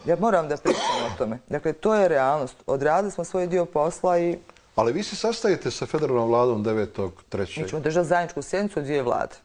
ja moram da pričam o tome. Dakle, to je realnost. Odradili smo svoj dio posla i... Ali vi se sastajete sa federalnom vladom devetog trećeg Mi ćemo držati zajedničku sjednicu od dvije vlade.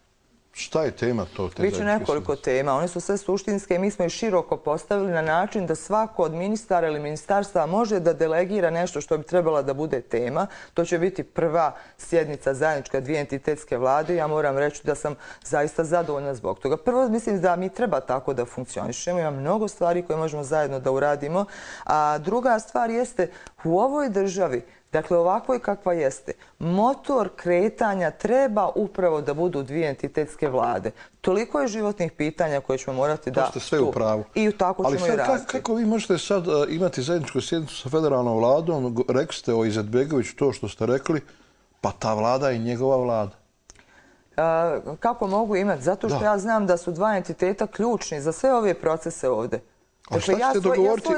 Šta je tema to? Biće nekoliko tema. One su sve suštinske i mi smo ih široko postavili na način da svako od ministara ili ministarstva može da delegira nešto što bi trebala da bude tema. To će biti prva sjednica zajednička dvije entitetske vlade. Ja moram reći da sam zaista zadovoljna zbog toga. Prvo, mislim da mi treba tako da funkcionišemo. Ima mnogo stvari koje možemo zajedno da uradimo. A druga stvar jeste u ovoj državi, dakle, ovakvoj kakva jeste, motor kretanja treba upravo da budu dvije entitetske vlade. Toliko je životnih pitanja koje ćemo morati da... To ste sve u pravu. I tako ćemo i razviti. Ali kako vi možete sad imati zajedničku sjednicu sa federalnom vladom, rekli ste o Izetbegoviću to što ste rekli, pa ta vlada je njegova vlada. Kako mogu imati? Zato što ja znam da su dva entiteta ključni za sve ove procese ovdje. A šta ćete dogovoriti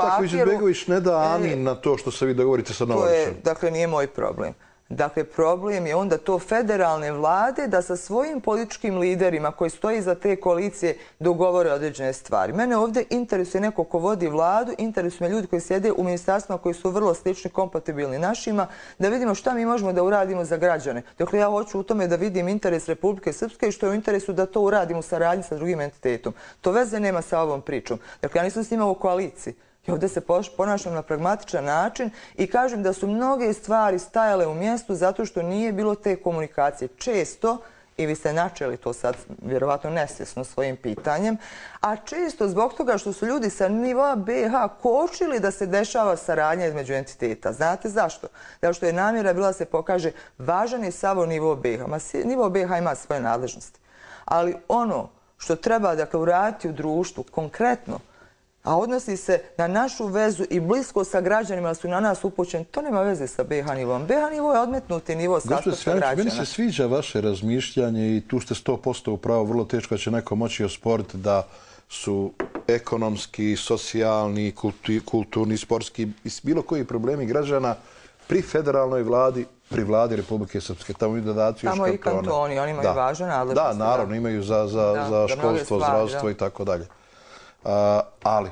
ako Izetbegović ne da amin na to što se vi dogovorite sa Novačem? Dakle, nije moj problem. Dakle, problem je onda to federalne vlade da sa svojim političkim liderima koji stoji iza te koalicije dogovore određene stvari. Mene ovdje interesuje neko ko vodi vladu, interesuje me ljudi koji sjede u ministarstvima koji su vrlo slični, kompatibilni našima, da vidimo šta mi možemo da uradimo za građane. Dakle, ja hoću u tome da vidim interes Republike Srpske i što je u interesu da to uradimo u saradnji sa drugim entitetom. To veze nema sa ovom pričom. Dakle, ja nisam s njima u koaliciji. I ovdje se ponašam na pragmatičan način i kažem da su mnoge stvari stajale u mjestu zato što nije bilo te komunikacije. Često, i vi ste načeli to sad vjerovatno nesvjesno svojim pitanjem, a često zbog toga što su ljudi sa nivoa B iH kočili da se dešava saradnja između entiteta. Znate zašto? Zato što je namjera bila da se pokaže važan je samo nivo B iH. Nivo B iH ima svoje nadležnosti. Ali ono što treba dakle uraditi u društvu konkretno, a odnosi se na našu vezu i blisko sa građanima, da su na nas upućeni, to nema veze sa B iH nivom. B iH nivo je odmetnuti nivo sastavka građana. Meni se sviđa vaše razmišljanje i tu ste sto posto upravo, vrlo teško da će neko moći osporiti da su ekonomski, socijalni, kulturni, sportski i bilo koji problemi građana pri federalnoj vladi, pri vladi Republike Srpske. Tamo i dodaciju još kantona. Tamo i kantoni, oni imaju važan nadležnost. Da, naravno, imaju za školstvo, zdravstvo i tako dalje. Ali,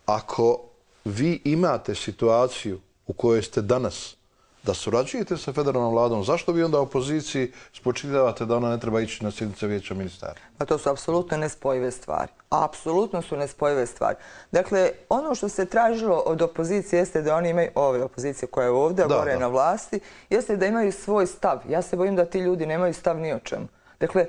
ako vi imate situaciju u kojoj ste danas da surađujete sa federalnom vladom, zašto vi onda opoziciji spočitavate da ona ne treba ići na sjednice vijeća ministara? Pa to su apsolutno nespojive stvari. Apsolutno su nespojive stvari. Dakle, ono što se tražilo od opozicije jeste da oni imaju, ove opozicije koja je ovdje, gore na vlasti, jeste da imaju svoj stav. Ja se bojim da ti ljudi nemaju stav ni o čemu. Dakle,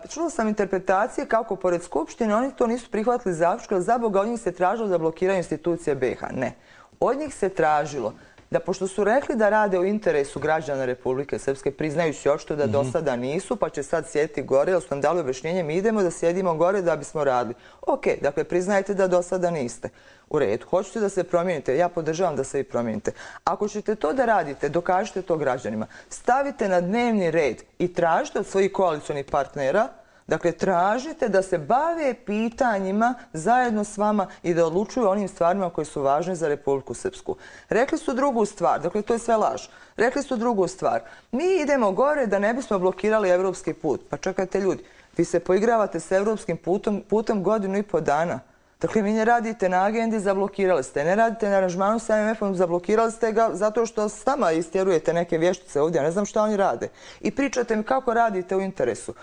čulo sam interpretacije kako pored Skupštine oni to nisu prihvatili zaključke, ali za Boga od njih se tražilo da blokiraju institucije B iH. Ne. Od njih se tražilo da pošto su rekli da rade u interesu građana Republike Srpske, priznajući očito da do sada nisu, pa će sad sjediti gore, ali su nam dali objašnjenje, mi idemo da sjedimo gore da bismo radili. Ok, dakle, priznajte da do sada niste. U redu, hoćete da se promijenite, ja podržavam da se i promijenite. Ako ćete to da radite, dokažite to građanima. Stavite na dnevni red i tražite od svojih koalicionih partnera, dakle, tražite da se bave pitanjima zajedno s vama i da odlučuju onim stvarima koji su važne za Republiku Srpsku. Rekli su drugu stvar, dakle, to je sve laž. Rekli su drugu stvar. Mi idemo gore da ne bismo blokirali evropski put. Pa čekajte ljudi, vi se poigravate s evropskim putom, putom godinu i po dana. Dakle, vi ne radite na agendi, zablokirali ste. Ne radite na aranžmanu sa M F-om, zablokirali ste ga zato što s nama istjerujete neke vještice ovdje. Ja ne znam šta oni rade. I pričate mi kako radite u interesu.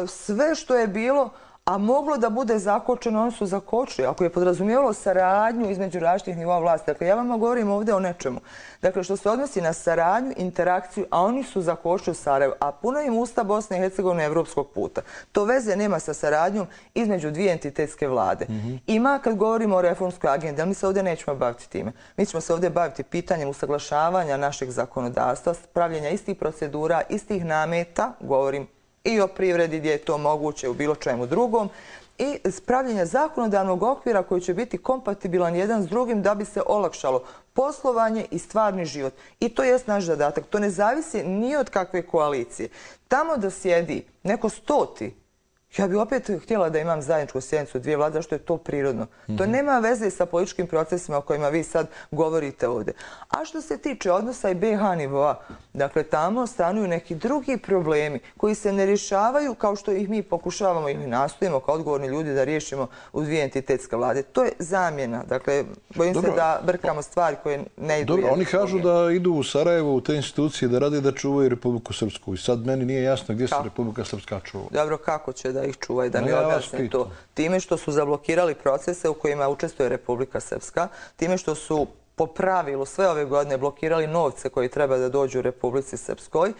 Sve što je bilo, a moglo da bude zakočeno, oni su zakočili. Ako je podrazumijevalo saradnju između različitih nivoa vlasti. Dakle, ja vam govorim ovdje o nečemu. Dakle, što se odnosi na saradnju, interakciju, a oni su zakočili Sarajevo, a puno im usta Bosne i Hercegovine evropskog puta. To veze nema sa saradnjom između dvije entitetske vlade. Ima kad govorimo o reformskoj agendi, ali mi se ovdje nećemo baviti time. Mi ćemo se ovdje baviti pitanjem usaglašavanja našeg zakonodavstva, pravljenja istih procedura, istih nameta, govorim i o privredi gdje je to moguće u bilo čemu drugom i spravljenja zakonodavnog okvira koji će biti kompatibilan jedan s drugim da bi se olakšalo poslovanje i stvarni život. I to jest naš zadatak. To ne zavisi ni od kakve koalicije. Tamo da sjedi neko stoti, ja bih opet htjela da imam zajedničku sjednicu dvije vlade, zašto je to prirodno. To nema veze sa političkim procesima o kojima vi sad govorite ovdje. A što se tiče odnosa i B iH nivoa, dakle, tamo stanuju neki drugi problemi koji se ne rješavaju kao što ih mi pokušavamo ili nastojimo kao odgovorni ljudi da riješimo u dvije entitetske vlade. To je zamjena. Dakle, bojim se da brkamo stvari koje ne idu. Dobro, oni kažu da idu u Sarajevo, u te institucije, da rade da čuvaju Republiku Srpsku. I sad meni nije jasno gdje se Republika Srpska čuva. Dobro, kako će da ih čuvaju, da mi objasne to? Time što su zablokirali procese u kojima učestvuje Republika Srpska, time što su po pravilu sve ove godine blokirali novce koji treba da dođu u Republici Srpskoj,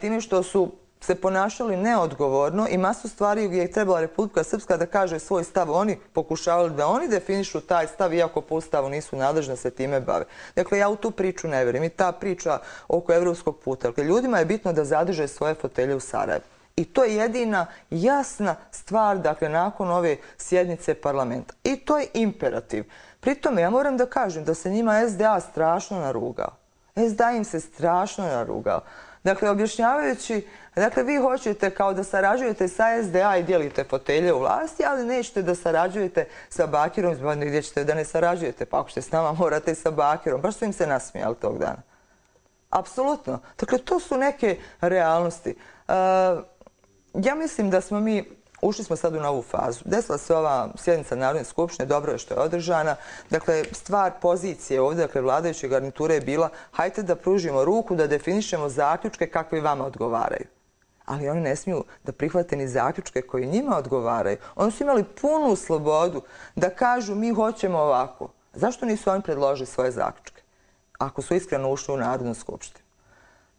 time što su se ponašali neodgovorno i masu stvari gdje je trebala Republika Srpska da kaže svoj stav, oni pokušavali da oni definišu taj stav, iako po ustavu nisu nadležni da se time bave. Dakle, ja u tu priču ne vjerujem. I ta priča oko evropskog puta. Dakle, ljudima je bitno da zadrže svoje fotelje u Sarajevu. I to je jedina jasna stvar, dakle, nakon ove sjednice parlamenta. I to je imperativ. Pritome, ja moram da kažem da se njima S D A strašno narugao. S D A im se strašno narugao. Dakle, objašnjavajući, dakle, vi hoćete kao da sarađujete sa S D A i dijelite fotelje u vlasti, ali nećete da sarađujete sa Bakirom, gdje ćete da ne sarađujete, pa ako ćete s nama morate i sa Bakirom. Baš su im se nasmijali tog dana. Apsolutno. Dakle, to su neke realnosti. Ja mislim da smo mi, ušli smo sad u novu fazu. Desila se ova sjednica Narodne skupštine, dobro je što je održana. Dakle, stvar pozicije ovdje, dakle, vladajuće garniture je bila hajte da pružimo ruku, da definišemo zaključke kakvi vama odgovaraju. Ali oni ne smiju da prihvate ni zaključke koji njima odgovaraju. Oni su imali punu slobodu da kažu mi hoćemo ovako. Zašto nisu oni predložili svoje zaključke? Ako su iskreno ušli u Narodnu skupštinu.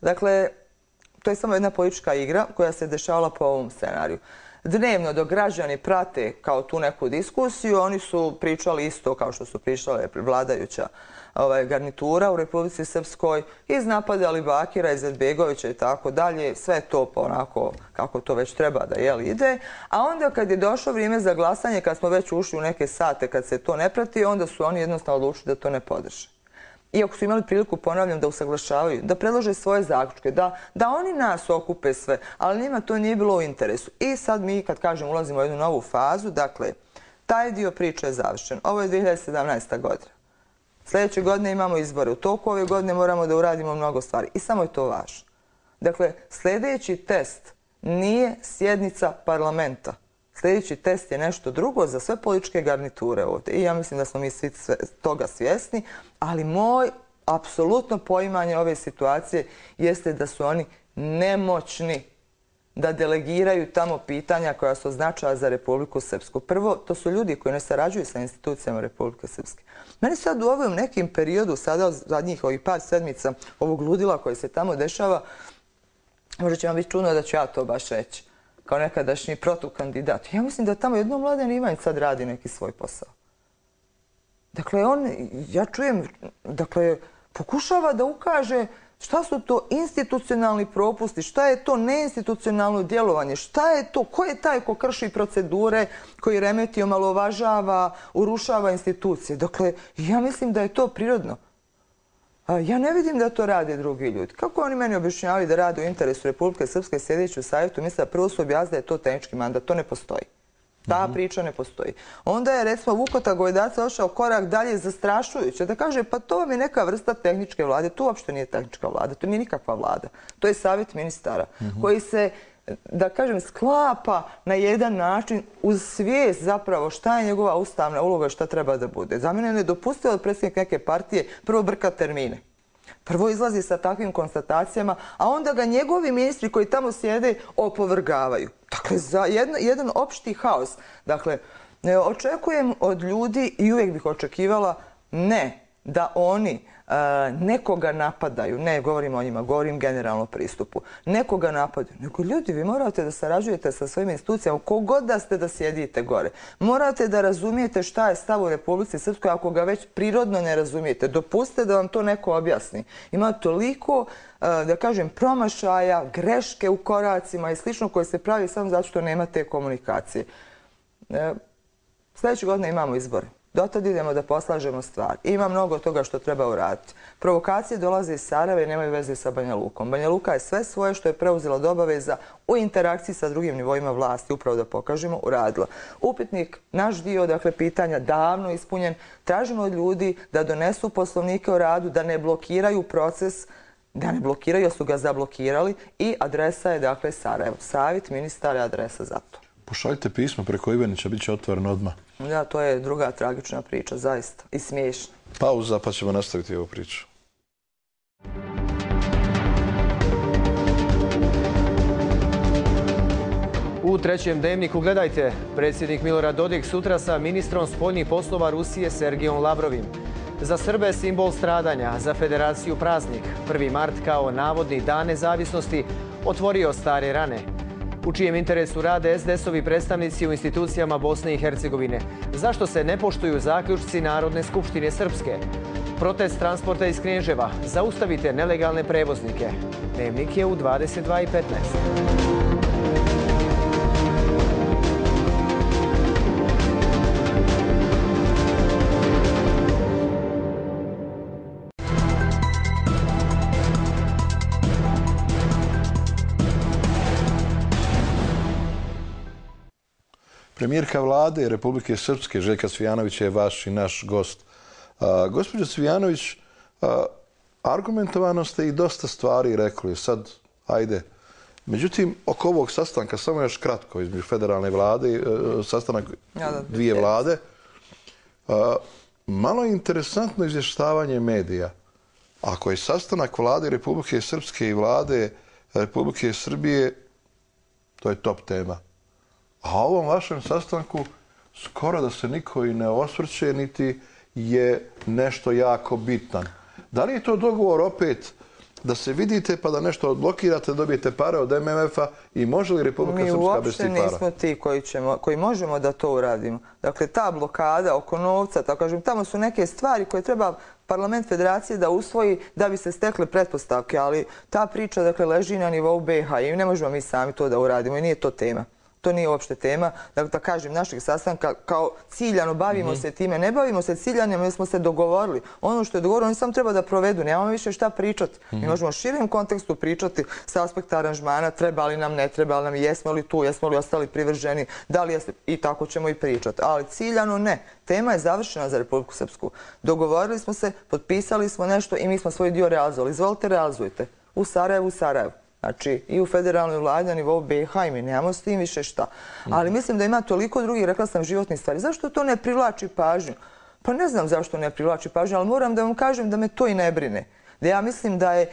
Dakle, to je samo jedna politička igra koja se dešavala po ovom scenariju. Dnevno dok građani prate kao tu neku diskusiju, oni su pričali isto kao što su pričale vladajuća garnitura u Republici Srpskoj, iznapadali Bakira, Izetbegovića i tako dalje. Sve to onako kako to već treba da jel ide. A onda kad je došlo vrijeme za glasanje, kad smo već ušli u neke sate, kad se to ne prati, onda su oni jednostavno odlučili da to ne podrže. Iako su imali priliku, ponavljam, da usaglašavaju, da predlože svoje zaključke, da, da oni nas okupe sve, ali njima to nije bilo u interesu. I sad mi, kad kažem, ulazimo u jednu novu fazu, dakle, taj dio priče je završen. Ovo je dvije hiljade sedamnaesta. godina. Sljedeće godine imamo izbore. U toku ove godine moramo da uradimo mnogo stvari. I samo je to važno. Dakle, sljedeći test nije sjednica parlamenta. Sljedeći test je nešto drugo za sve političke garniture ovdje. I ja mislim da smo mi svi toga svjesni, ali moj apsolutno poimanje ove situacije jeste da su oni nemoćni da delegiraju tamo pitanja koja su značaja za Republiku Srpsku. Prvo, to su ljudi koji ne sarađuju sa institucijama Republike Srpske. Meni sad u ovom nekim periodu, sada zadnjih ovih par sedmica, ovog ludila koje se tamo dešava, možda će vam biti čudno da ću ja to baš reći, kao nekadašnji protukandidat. Ja mislim da tamo jedno Mladen Ivanjić sad radi neki svoj posao. Dakle, on, ja čujem, dakle, pokušava da ukaže šta su to institucionalni propusti, šta je to neinstitucionalno djelovanje, šta je to, ko je taj ko krši procedure, koji remeti, omalovažava, urušava institucije. Dakle, ja mislim da je to prirodno. Ja ne vidim da to rade drugi ljudi. Kako oni meni objašnjavaju da rade u interesu Republike Srpske sjedeći u savjetu, mislim da prvo su objasnili da je to tehnički mandat. To ne postoji. Ta priča ne postoji. Onda je, recimo, Vukota Gojdaca ošao korak dalje zastrašujuće da kaže pa to vam je neka vrsta tehničke vlade. To uopšte nije tehnička vlada, to nije nikakva vlada. To je savjet ministara koji se, da kažem, sklapa na jedan način uz svijest zapravo šta je njegova ustavna uloga i šta treba da bude. Za mene je nedopustivo od predsjednika neke partije prvo brka termine. Prvo izlazi sa takvim konstatacijama, a onda ga njegovi ministri koji tamo sjede opovrgavaju. Dakle, za jedan opšti haos. Dakle, očekujem od ljudi i uvijek bih očekivala ne da oni nekoga napadaju, ne govorim o njima, govorim generalno pristupu, nekoga napadaju, nego ljudi, vi morate da sarađujete sa svojim institucijama, kogod da ste da sjedite gore. Morate da razumijete šta je stav u Republici Srpskoj, ako ga već prirodno ne razumijete. Dopustite da vam to neko objasni. Ima toliko, da kažem, promašaja, greške u koracima i slično koje se pravi samo zato što nema te komunikacije. Sljedeće godine imamo izbore. Dotad idemo da poslažemo stvar. Ima mnogo toga što treba uraditi. Provokacije dolaze iz Sarajeva i nemaju veze sa Banja Lukom. Banja Luka je sve svoje što je preuzela od obaveza u interakciji sa drugim nivoima vlasti, upravo da pokažemo, uradila. Upitnik, naš dio, dakle, pitanja davno ispunjen. Tražimo od ljudi da donesu poslovnike o radu, da ne blokiraju proces, da ne blokiraju, jer su ga zablokirali i adresa je, dakle, Sarajevo. Savjet ministara je adresa za to. Pošaljite pismo preko Ivanića, bit će otvoreno odmah. Da, to je druga tragična priča, zaista. I smiješna. Pauza, pa ćemo nastaviti ovu priču. U trećem dnevniku gledajte. Predsjednik Milorad Dodik sutra sa ministrom spoljnih poslova Rusije Sergijom Lavrovim. Za Srbe simbol stradanja, za Federaciju praznik. prvi mart kao navodni dan nezavisnosti otvorio stare rane. U čijem interesu rade es de es-ovi predstavnici u institucijama Bosne i Hercegovine? Zašto se ne poštuju zaključci Narodne skupštine Srpske? Protest transporta iz Knježeva. Zaustavite nelegalne prevoznike. Dnevnik je u dvadeset dva i petnaest. Premijerka vlade Republike Srpske, Željka Cvijanovića, je vaš i naš gost. Gospođo Cvijanović, argumentovano ste i dosta stvari rekli. Sad, ajde. Međutim, oko ovog sastanka, samo još kratko, između federalne vlade, sastanak dvije vlade, malo je interesantno izvještavanje medija. Ako je sastanak vlade Republike Srpske i vlade Republike Srbije, to je top tema. A o ovom vašem sastanku skoro da se niko i ne osvrće, niti je nešto jako bitan. Da li je to dogovor opet da se vidite pa da nešto odblokirate, dobijete pare od em em ef-a i može li Republika Srpska bez tih para? Mi uopšte nismo ti koji, ćemo, koji možemo da to uradimo. Dakle, ta blokada oko novca, tako kažem, tamo su neke stvari koje treba parlament federacije da usvoji da bi se stekle pretpostavke, ali ta priča, dakle, leži na nivou be ha i ne možemo mi sami to da uradimo i nije to tema. To nije uopšte tema. Dakle, da kažem, našeg sastanka kao ciljano bavimo se time. Ne bavimo se ciljanjem jer smo se dogovorili. Ono što je dogovorilo, oni samo treba da provedu. Nemamo više šta pričati. Mi možemo u širem kontekstu pričati sa aspekta aranžmana, treba li nam, ne treba li nam, jesmo li tu, jesmo li ostali privrženi, da li jeste, i tako ćemo i pričati. Ali ciljano ne. Tema je završena za Republiku Srpsku. Dogovorili smo se, potpisali smo nešto i mi smo svoj dio realizovali. Izvolite, realizujte. U Sarajevu, u Sarajevu. Znači, i u federalnoj vladi na nivou be ha i mi nemamo s tim više šta. Ali mislim da ima toliko drugih, rekla sam, životnih stvari. Zašto to ne privlači pažnju? Pa ne znam zašto ne privlači pažnju, ali moram da vam kažem da me to i ne brine. Da ja mislim da je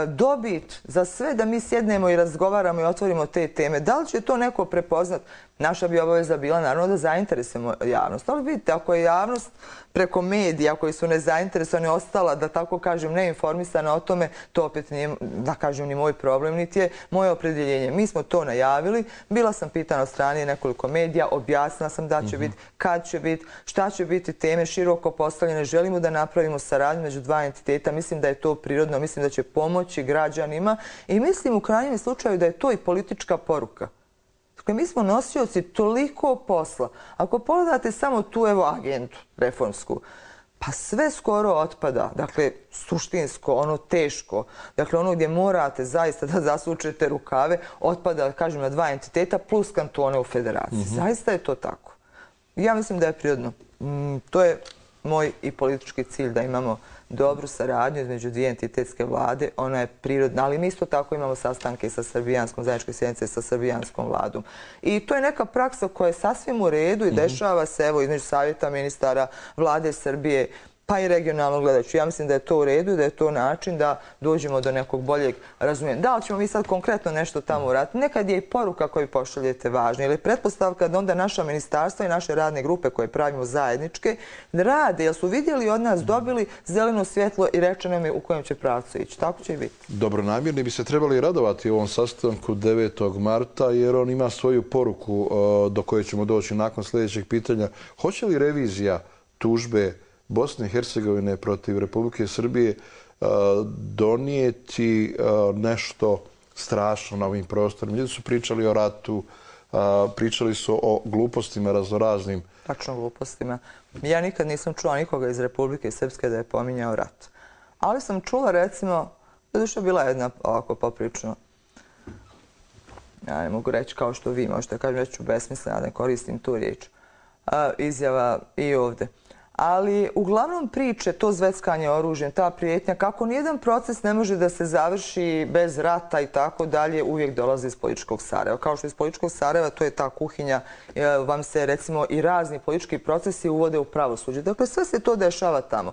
dobit za sve da mi sjednemo i razgovaramo i otvorimo te teme. Da li će to neko prepoznat? Naša bi obaveza bila naravno da zainteresujemo javnost. Ali vidite, ako je javnost preko medija koji su nezainteresovani ostala, da tako kažem, neinformisana o tome, to opet nije, da kažem, ni moj problem, niti je moje opredjeljenje. Mi smo to najavili. Bila sam pitana od strane nekoliko medija, objasnila sam da će biti, kad će biti, šta će biti teme široko postavljene. Želimo da napravimo saradnju među dva entiteta. Mislim da je to prirodno, mislim da će pomoći građanima i mislim u krajnjem slučaju da je to i politička poruka. Dakle, mi smo nosioci toliko posla. Ako pogledate samo tu evo agendu reformsku, pa sve skoro otpada. Dakle, suštinsko, ono teško. Dakle, ono gdje morate zaista da zasučete rukave, otpada, kažem, na dva entiteta plus kantone u federaciji. Zaista je to tako. Ja mislim da je prirodno. To je moj i politički cilj da imamo dobru saradnju između dvije entitetske vlade. Ona je prirodna, ali mi isto tako imamo sastanke sa srbijanskom, zajedničke sjednice sa srbijanskom vladom. I to je neka praksa koja je sasvim u redu i dešava se evo između savjeta ministara vlade Srbije, pa i regionalno gledajući. Ja mislim da je to u redu i da je to način da dođemo do nekog boljeg razumijevanja. Da li ćemo mi sad konkretno nešto tamo uraditi? Nekad je i poruka koju pošaljete važna. Ili je pretpostavka da onda naša ministarstva i naše radne grupe koje pravimo zajedničke rade, jer su vidjeli od nas, dobili zeleno svjetlo i rečeno im je u kojem će pravcu ići. Tako će i biti. Dobronamjerni bi se trebali radovati u ovom sastanku devetog marta, jer on ima svoju poruku do koje ćemo doći nakon sljedećeg pitanja. Hoće li revizija tužbe Bosne i Hercegovine protiv Republike Srbije donijeti nešto strašno na ovim prostorima? Ljudi su pričali o ratu, pričali su o glupostima raznoraznim. Tačno glupostima. Ja nikad nisam čula nikoga iz Republike Srpske da je pominjao rat. Ali sam čula, recimo, doduše bila jedna ovako poprično, ja ne mogu reći kao što vi možete kažem, već ću besmisleno, ne koristim tu riječ, izjava i ovdje. Ali uglavnom priče, to zveckanje oružjem, ta prijetnja, kako nijedan proces ne može da se završi bez rata i tako dalje, uvijek dolazi iz političkog Sarajeva. Kao što iz političkog Sarajeva, to je ta kuhinja, vam se recimo i razni politički procesi uvode u pravosuđe. Dakle, sve se to dešava tamo.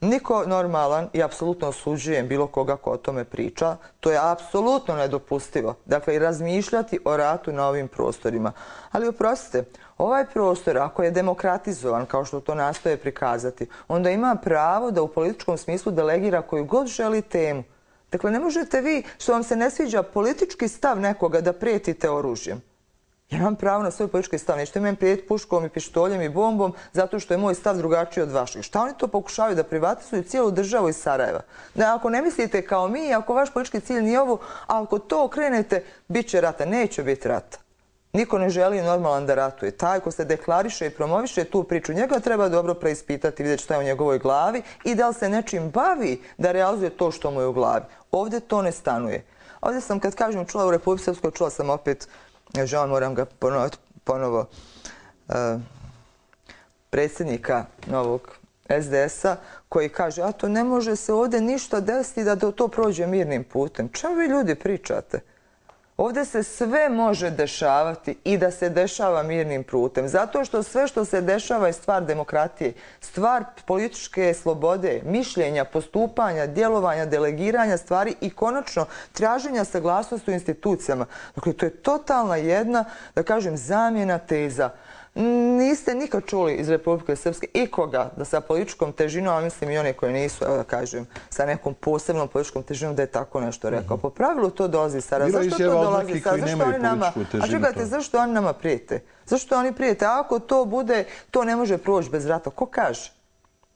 Niko normalan i apsolutno osuđujem bilo koga ko o tome priča. To je apsolutno nedopustivo. Dakle, i razmišljati o ratu na ovim prostorima. Ali oprostite, ovaj prostor, ako je demokratizovan, kao što to nastoje prikazati, onda ima pravo da u političkom smislu delegira koju god želi temu. Dakle, ne možete vi, što vam se ne sviđa politički stav nekoga, da prijetite oružjem. Ja imam pravo na svoj politički stav. Nećete meni prijeti puškom i pištoljem i bombom zato što je moj stav drugačiji od vašeg. Šta oni to pokušavaju? Da privatizuju cijelu državu iz Sarajeva. Da ako ne mislite kao mi, ako vaš politički cilj nije ovo, a ako to okrenete, bit će rata. Neće biti rata. Niko ne želi normalan da ratuje. Taj ko se deklariše i promoviše tu priču, njega treba dobro preispitati, vidjeti šta je u njegovoj glavi i da li se nečim bavi da realizuje to što mu je u glavi. Ovdje to ne stanuje. Ovdje sam, kad kažem, čula u Republici Srpskoj, čula sam opet, žao, moram ga ponoviti ponovo, predsjednika novog S D S-a, koji kaže, a to ne može se ovdje ništa desiti da to prođe mirnim putem. Čemu vi ljudi pričate? Ovdje se sve može dešavati i da se dešava mirnim putem. Zato što sve što se dešava je stvar demokratije, stvar političke slobode, mišljenja, postupanja, djelovanja, delegiranja stvari i konačno traženja saglasnosti u institucijama. Dakle, to je totalna jedna, da kažem, zamjena teza. Niste nikad čuli iz Republike Srpske ikoga da sa političkom težinom, a mislim i one koje nisu, evo da kažem, sa nekom posebnom političkom težinom da je tako nešto rekao. Po pravilu to dolazi iz Sarajeva. Zašto to dolazi iz Sarajeva? Zašto oni nama, a čekajte, zašto oni nama prijete? Zašto oni prijete? Ako to bude, to ne može proći bez rata. Ko kaže?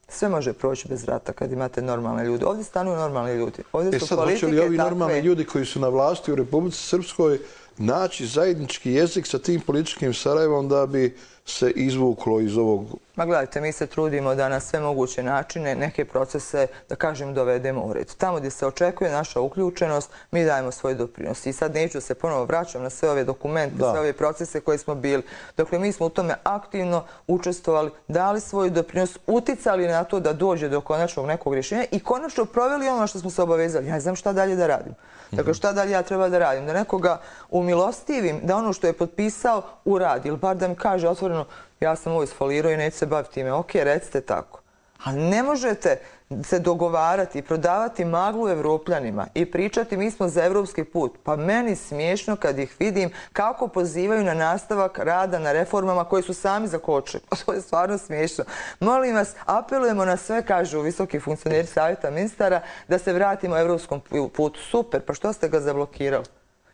Sve može proći bez rata kad imate normalne ljude. Ovdje stanuju normalni ljudi. Ovdje su politike takve. E sad, hoće li ovi normalni ljudi koji su na vlasti u Republici Srpskoj naći zajednički jezik sa tim političkim Sarajevom da bi se izvuklo iz ovog... Ma gledajte, mi se trudimo da na sve moguće načine neke procese, da kažem, dovedemo u red. Tamo gdje se očekuje naša uključenost, mi dajemo svoj doprinos. I sad neću se ponovo vraćam na sve ove dokumente, sve ove procese koje smo bili. Dakle, mi smo u tome aktivno učestvovali, dali svoj doprinos, uticali na to da dođe do konačnog nekog rješenja i konačno proveli ono što smo se obavezali. Ja ne znam šta dalje da radim. Dakle, šta dalje ja treba da radim? Da nekoga umilostivim, da ono što je potpisao uradi, ili bar da mi kaže otvoreno sigurno, ja sam ovo isfolirao i neću se baviti time. Ok, recite tako. Ali ne možete se dogovarati i prodavati maglu Evropljanima i pričati mi smo za evropski put. Pa meni smiješno kad ih vidim kako pozivaju na nastavak rada na reformama koje su sami zakočili. To je stvarno smiješno. Molim vas, apelujemo na sve, kažu visoki funkcioneri Savjeta ministara, da se vratimo evropskom putu. Super, pa što ste ga zablokirali?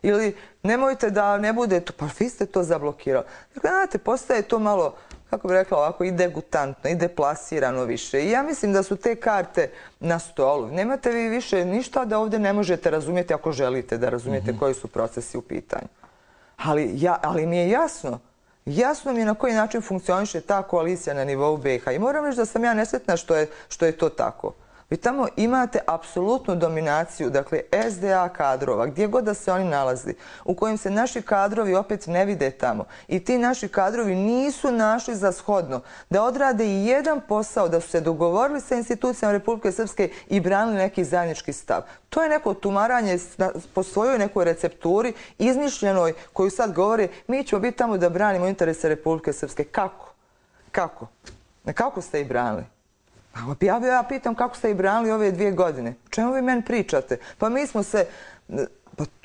Ili nemojte da ne bude to, pa vi ste to zablokirali. Dakle, znate, postaje to malo, kako bih rekla ovako, i degutantno, i deplasirano više. I ja mislim da su te karte na stolu. Nemate vi više ništa da ovdje ne možete razumjeti ako želite da razumijete koji su procesi u pitanju. Ali mi je jasno, jasno mi je na koji način funkcioniše ta koalicija na nivou B iH. I moram reći da sam ja nesretna što je to tako. Vi tamo imate apsolutnu dominaciju, dakle, S D A kadrova, gdje god da se oni nalazi, u kojim se naši kadrovi opet ne vide tamo. I ti naši kadrovi nisu našli za shodno da odrade i jedan posao, da su se dogovorili sa institucijama Republike Srpske i branili neki zajednički stav. To je neko tumaranje po svojoj nekoj recepturi, izmišljenoj, koju sad govore, mi ćemo biti tamo da branimo interese Republike Srpske. Kako? Kako? Kako ste ih branili? Ja pitam kako ste ih branili ove dvije godine. O čemu vi meni pričate? Pa mi smo se,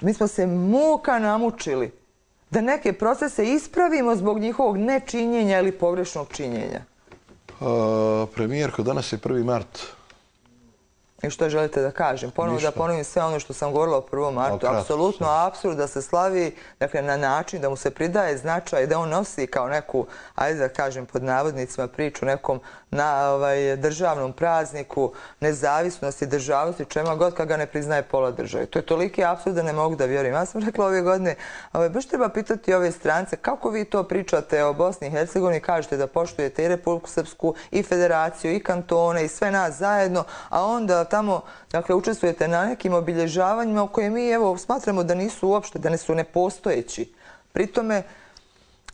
mi smo se muka namučili da neke procese ispravimo zbog njihovog nečinjenja ili pogrešnog činjenja. Premijerko, danas je prvi mart. I što želite da kažem? Ponovno da ponovim sve ono što sam govorila o prvom martu. Apsolutno apsurd da se slavi na način da mu se pridaje značaj, da on nosi kao neku, ajde da kažem pod navodnicima, priču nekom državnom prazniku, nezavisnosti, državnosti, čema god kad ga ne priznaje pola države. To je toliki apsurd da ne mogu da vjerujem. Ja sam rekla ove godine, baš treba pitati ove strance kako vi to pričate o Bosni i Hercegovini, kažete da poštujete i Republiku Srpsku, i Federaciju, i kantone, i sve nas zajedno, a onda tamo, dakle, učestvujete na nekim obilježavanjima u koje mi, evo, smatramo da nisu uopšte, da ne su nepostojeći. Pri tome,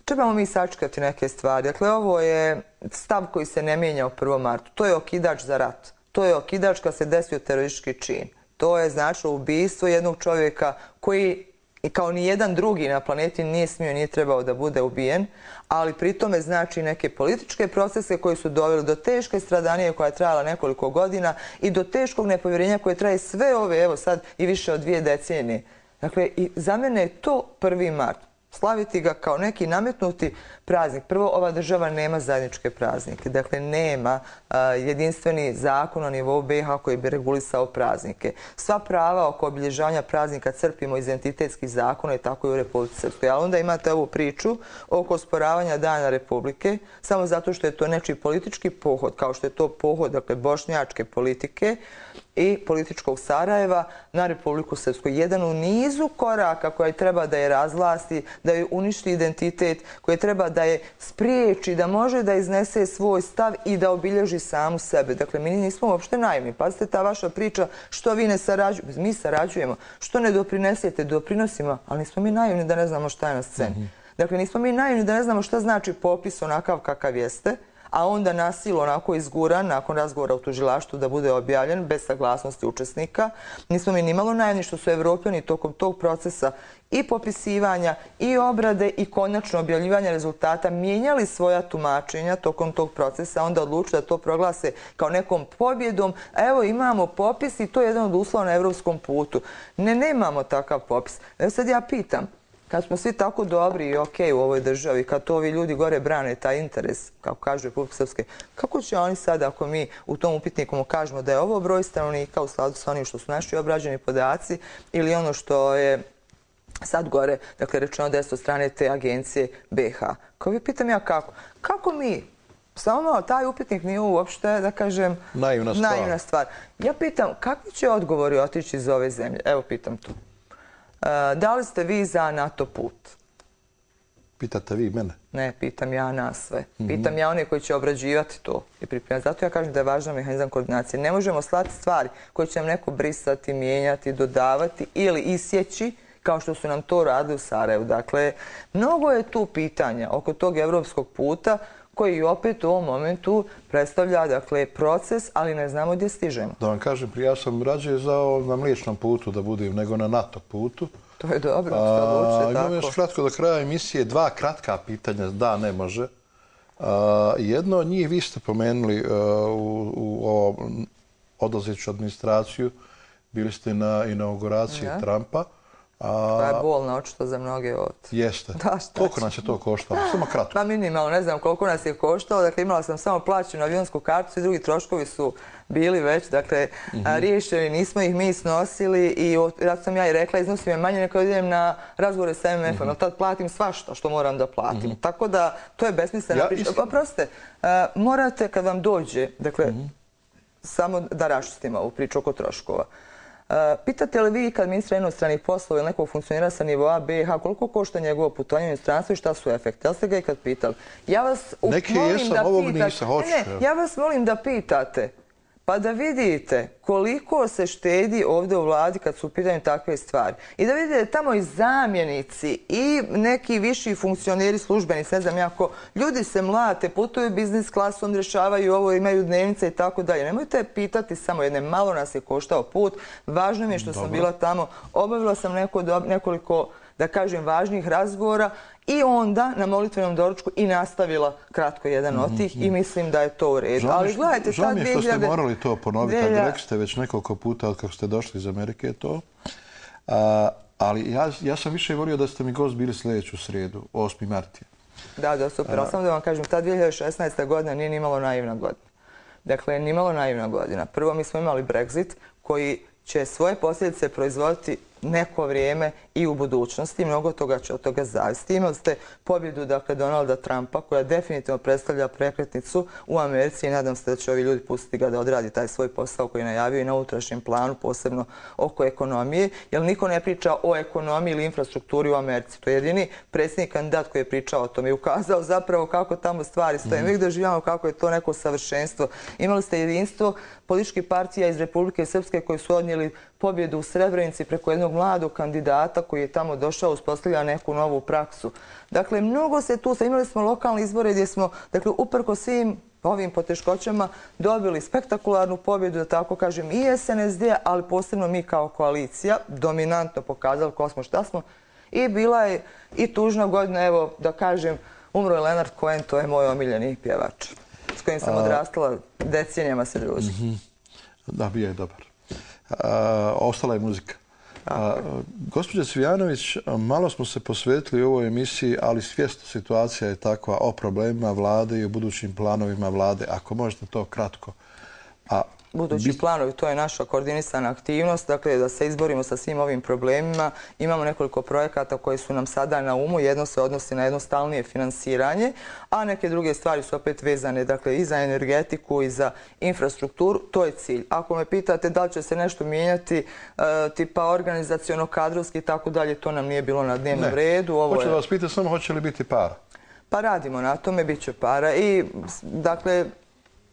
trebamo mi sačekati neke stvari. Dakle, ovo je stav koji se ne mijenja u prvom martu. To je okidač za rat. To je okidač kad se desio teroristički čin. To je značilo ubistvo jednog čovjeka koji, kao ni jedan drugi na planeti, nije smio, nije trebao da bude ubijen, ali pri tome znači neke političke procese koji su doveli do teške stradanije koja je trajala nekoliko godina i do teškog nepovjerenja koje traje sve ove, evo sad, i više od dvije decenije. Dakle, i za mene je to prvi mart. Slaviti ga kao neki nametnuti praznik. Prvo, ova država nema zajedničke praznike. Dakle, nema jedinstveni zakon na nivou B iH koji bi regulisao praznike. Sva prava oko obilježavanja praznika crpimo iz identitetskih zakona i tako i u Republici Srpskoj. Ali onda imate ovu priču oko osporavanja Dana Republike, samo zato što je to nečiji politički pohod, kao što je to pohod, dakle, bošnjačke politike i političkog Sarajeva na Republiku Srpsku. Jedan u nizu koraka koji treba da je razvlasti, da je uništi identitet, koji treba da je spriječi, da može da iznese svoj stav i da obilježi samu sebe. Dakle, mi nismo uopšte naivni. Pazite, ta vaša priča, što vi ne sarađujete, mi sarađujemo, što ne doprinesete, doprinosimo, ali nismo mi naivni da ne znamo šta je na sceni. Dakle, nismo mi naivni da ne znamo šta znači popis onakav kakav jeste, a onda nasilo onako izguran nakon razgovora u tužilaštvu da bude objavljen bez saglasnosti učesnika. Nismo mi nimalo naivni što su Evropljani tokom tog procesa i popisivanja i obrade i konačno objavljivanja rezultata mijenjali svoja tumačenja tokom tog procesa, onda odlučili da to proglase kao nekom pobjedom. Evo imamo popis i to je jedan od uslova na evropskom putu. Ne, nemamo takav popis. Evo sad ja pitam, kad smo svi tako dobri i okej u ovoj državi, kad to ovi ljudi gore brane taj interes, kako kažu Republike Srpske, kako će oni sad, ako mi u tom upitniku mu kažemo da je ovo broj stanovnika u skladu sa onim što su naši obrađeni podaci ili ono što je sad gore, dakle, rečeno deset od strane te agencije B iH. Kao vi pitam ja kako? Kako mi, samo malo, taj upitnik nije uopšte, da kažem, naivna stvar. Ja pitam, kakvi će odgovori otići iz ove zemlje? Evo, pitam to. Da li ste vi za NATO put? Pitate vi mene? Ne, pitam ja nas sve. Pitam ja one koji će obrađivati to i pripremati. Zato ja kažem da je važan mehanizam koordinacije. Ne možemo slati stvari koje će nam neko brisati, mijenjati, dodavati ili isjeći kao što su nam to radili u Sarajevu. Dakle, mnogo je tu pitanja oko tog evropskog puta koji opet u ovom momentu predstavlja, dakle, proces, ali ne znamo gdje stižemo. Da vam kažem, prije ja sam rađe za na mliječnom putu da budem, nego na NATO putu. To je dobro, što odlučite tako. Imamo još kratko do kraja emisije, dva kratka pitanja, da, ne može. Jedno od njih vi ste pomenuli u odlazeću administraciju, bili ste na inauguraciji Trumpa. To je bolno očito za mnoge od... Jeste. Koliko nas je to koštalo? Samo kratko. Pa minimalno, ne znam koliko nas je koštalo. Dakle, imala sam samo plaćenu avionsku kartu i drugi troškovi su bili već, dakle, riješeni, nismo ih mi snosili i zato sam ja i rekla, iznosim je manje nego idem na razgovore sa M M F-om, jer tad platim svašta što moram da platim. Tako da, to je besmislena priča. Oprostite, morate kad vam dođe, dakle, samo da raščistimo ovu priču oko troškova. Pitate li vi kad ministra inostranih poslova ili nekog funkcionira sa nivoa B i H koliko košta njegovo putovanje u inostranstvo i šta su efekti? Jel ste ga i kad pitali? Ja vas molim da pitate pa da vidite koliko se štedi ovdje u vladi kad su u pitanju takve stvari. I da vidite tamo i zamjenici i neki viši funkcioneri, službenici, ne znam jako, ljudi se mlate, putuju biznis klasom, rješavaju ovo, imaju dnevnice i tako dalje. Nemojte pitati samo jedne, malo nas je koštao put, važno mi je što sam bila tamo, obavila sam nekoliko, da kažem, važnih razgovora i onda na molitvenom doručku i nastavila kratko jedan od tih i mislim da je to u redu. Ali gledajte, žao mi je što ste morali to ponoviti, ali rekli ste već nekoliko puta kako ste došli iz Amerike to. Ali ja sam više volio da ste mi gost bili sljedeću srijedu, osmi marta. Da, da, super. Ali samo da vam kažem, ta dvije hiljade šesnaesta. godina nije nimalo naivna godina. Dakle, nimalo naivna godina. Prvo, mi smo imali Brexit koji će svoje posljedice proizvoditi neko vrijeme i u budućnosti. Mnogo toga će od toga zavisiti. Imali ste pobjedu, dakle, Donalda Trumpa, koja definitivno predstavlja prekretnicu u Americi i nadam se da će ovi ljudi pustiti ga da odradi taj svoj posao koji je najavio i na unutrašnjem planu, posebno oko ekonomije, jer niko ne priča o ekonomiji ili infrastrukturi u Americi. To je jedini predsjednik kandidat koji je pričao o tome i ukazao zapravo kako tamo stvari stoje. Mi doživljamo kako je to neko savršenstvo. Imali ste jedinstvo političkih partija iz Republike Srpske koji su odnijeli pobjedu u Srebrenici preko jednog mladog kandidata koji je tamo došao, uspostavlja neku novu praksu. Dakle, mnogo se tu, imali smo lokalne izbore gdje smo, dakle, uprko svim ovim poteškoćama dobili spektakularnu pobjedu, da tako kažem, i S N S D, ali posebno mi kao koalicija, dominantno pokazali ko smo, šta smo. I bila je i tužna godina, evo, da kažem, umro je Leonard Cohen, to je moj omiljeni pjevač, s kojim sam odrastala, decenijama se družim. Da, bio je dobar. Ostala je muzika. Gospođa Cvijanović, malo smo se posvetili u ovoj emisiji, ali svjesno situacija je takva o problemima vlade i o budućim planovima vlade. Ako možete to kratko. Budući planovi, to je naša koordinisana aktivnost, dakle da se izborimo sa svim ovim problemima. Imamo nekoliko projekata koji su nam sada na umu. Jedno se odnosi na jednostavnije finansiranje, a neke druge stvari su opet vezane, dakle, i za energetiku i za infrastrukturu. To je cilj. Ako me pitate da li će se nešto mijenjati, tipa organizaciono-kadrovski i tako dalje, to nam nije bilo na dnevnom redu. Hoću da vas pitati samo hoće li biti para? Pa radimo na tome, bit će para i, dakle,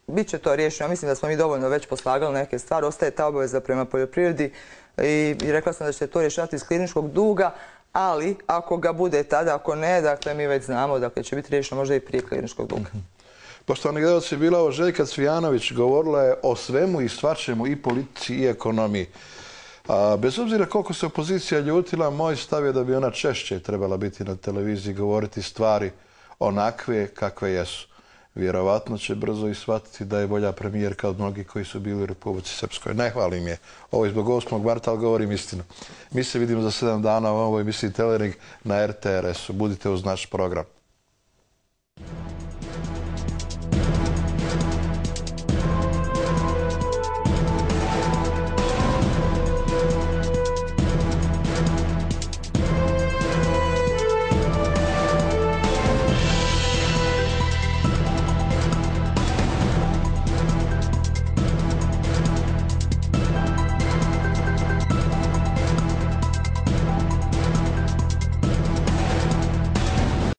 biće to riješeno. Mislim da smo mi dovoljno već poslagali neke stvari. Ostaje ta obaveza prema poljoprivredi i rekla sam da će to rješavati iz kliničkog duga, ali ako ga bude tada, ako ne, dakle mi već znamo da će biti riješeno možda i prije kliničkog duga. Poštovani gledalci, bila ovo Željka Cvijanović, govorila je o svemu i svačemu, i politici i ekonomiji. Bez obzira koliko se opozicija ljutila, moj stav je da bi ona češće trebala biti na televiziji, govoriti stvari onakve kakve jesu. Vjerovatno će brzo i shvatiti da je bolja premijerka od mnogih koji su bili u Republici Srpskoj. Ne hvalim je. Ovo je zbog osmog marta, ali govorim istinu. Mi se vidimo za sedam dana u ovoj emisiji Telering na R T R S-u. Budite uz naš program.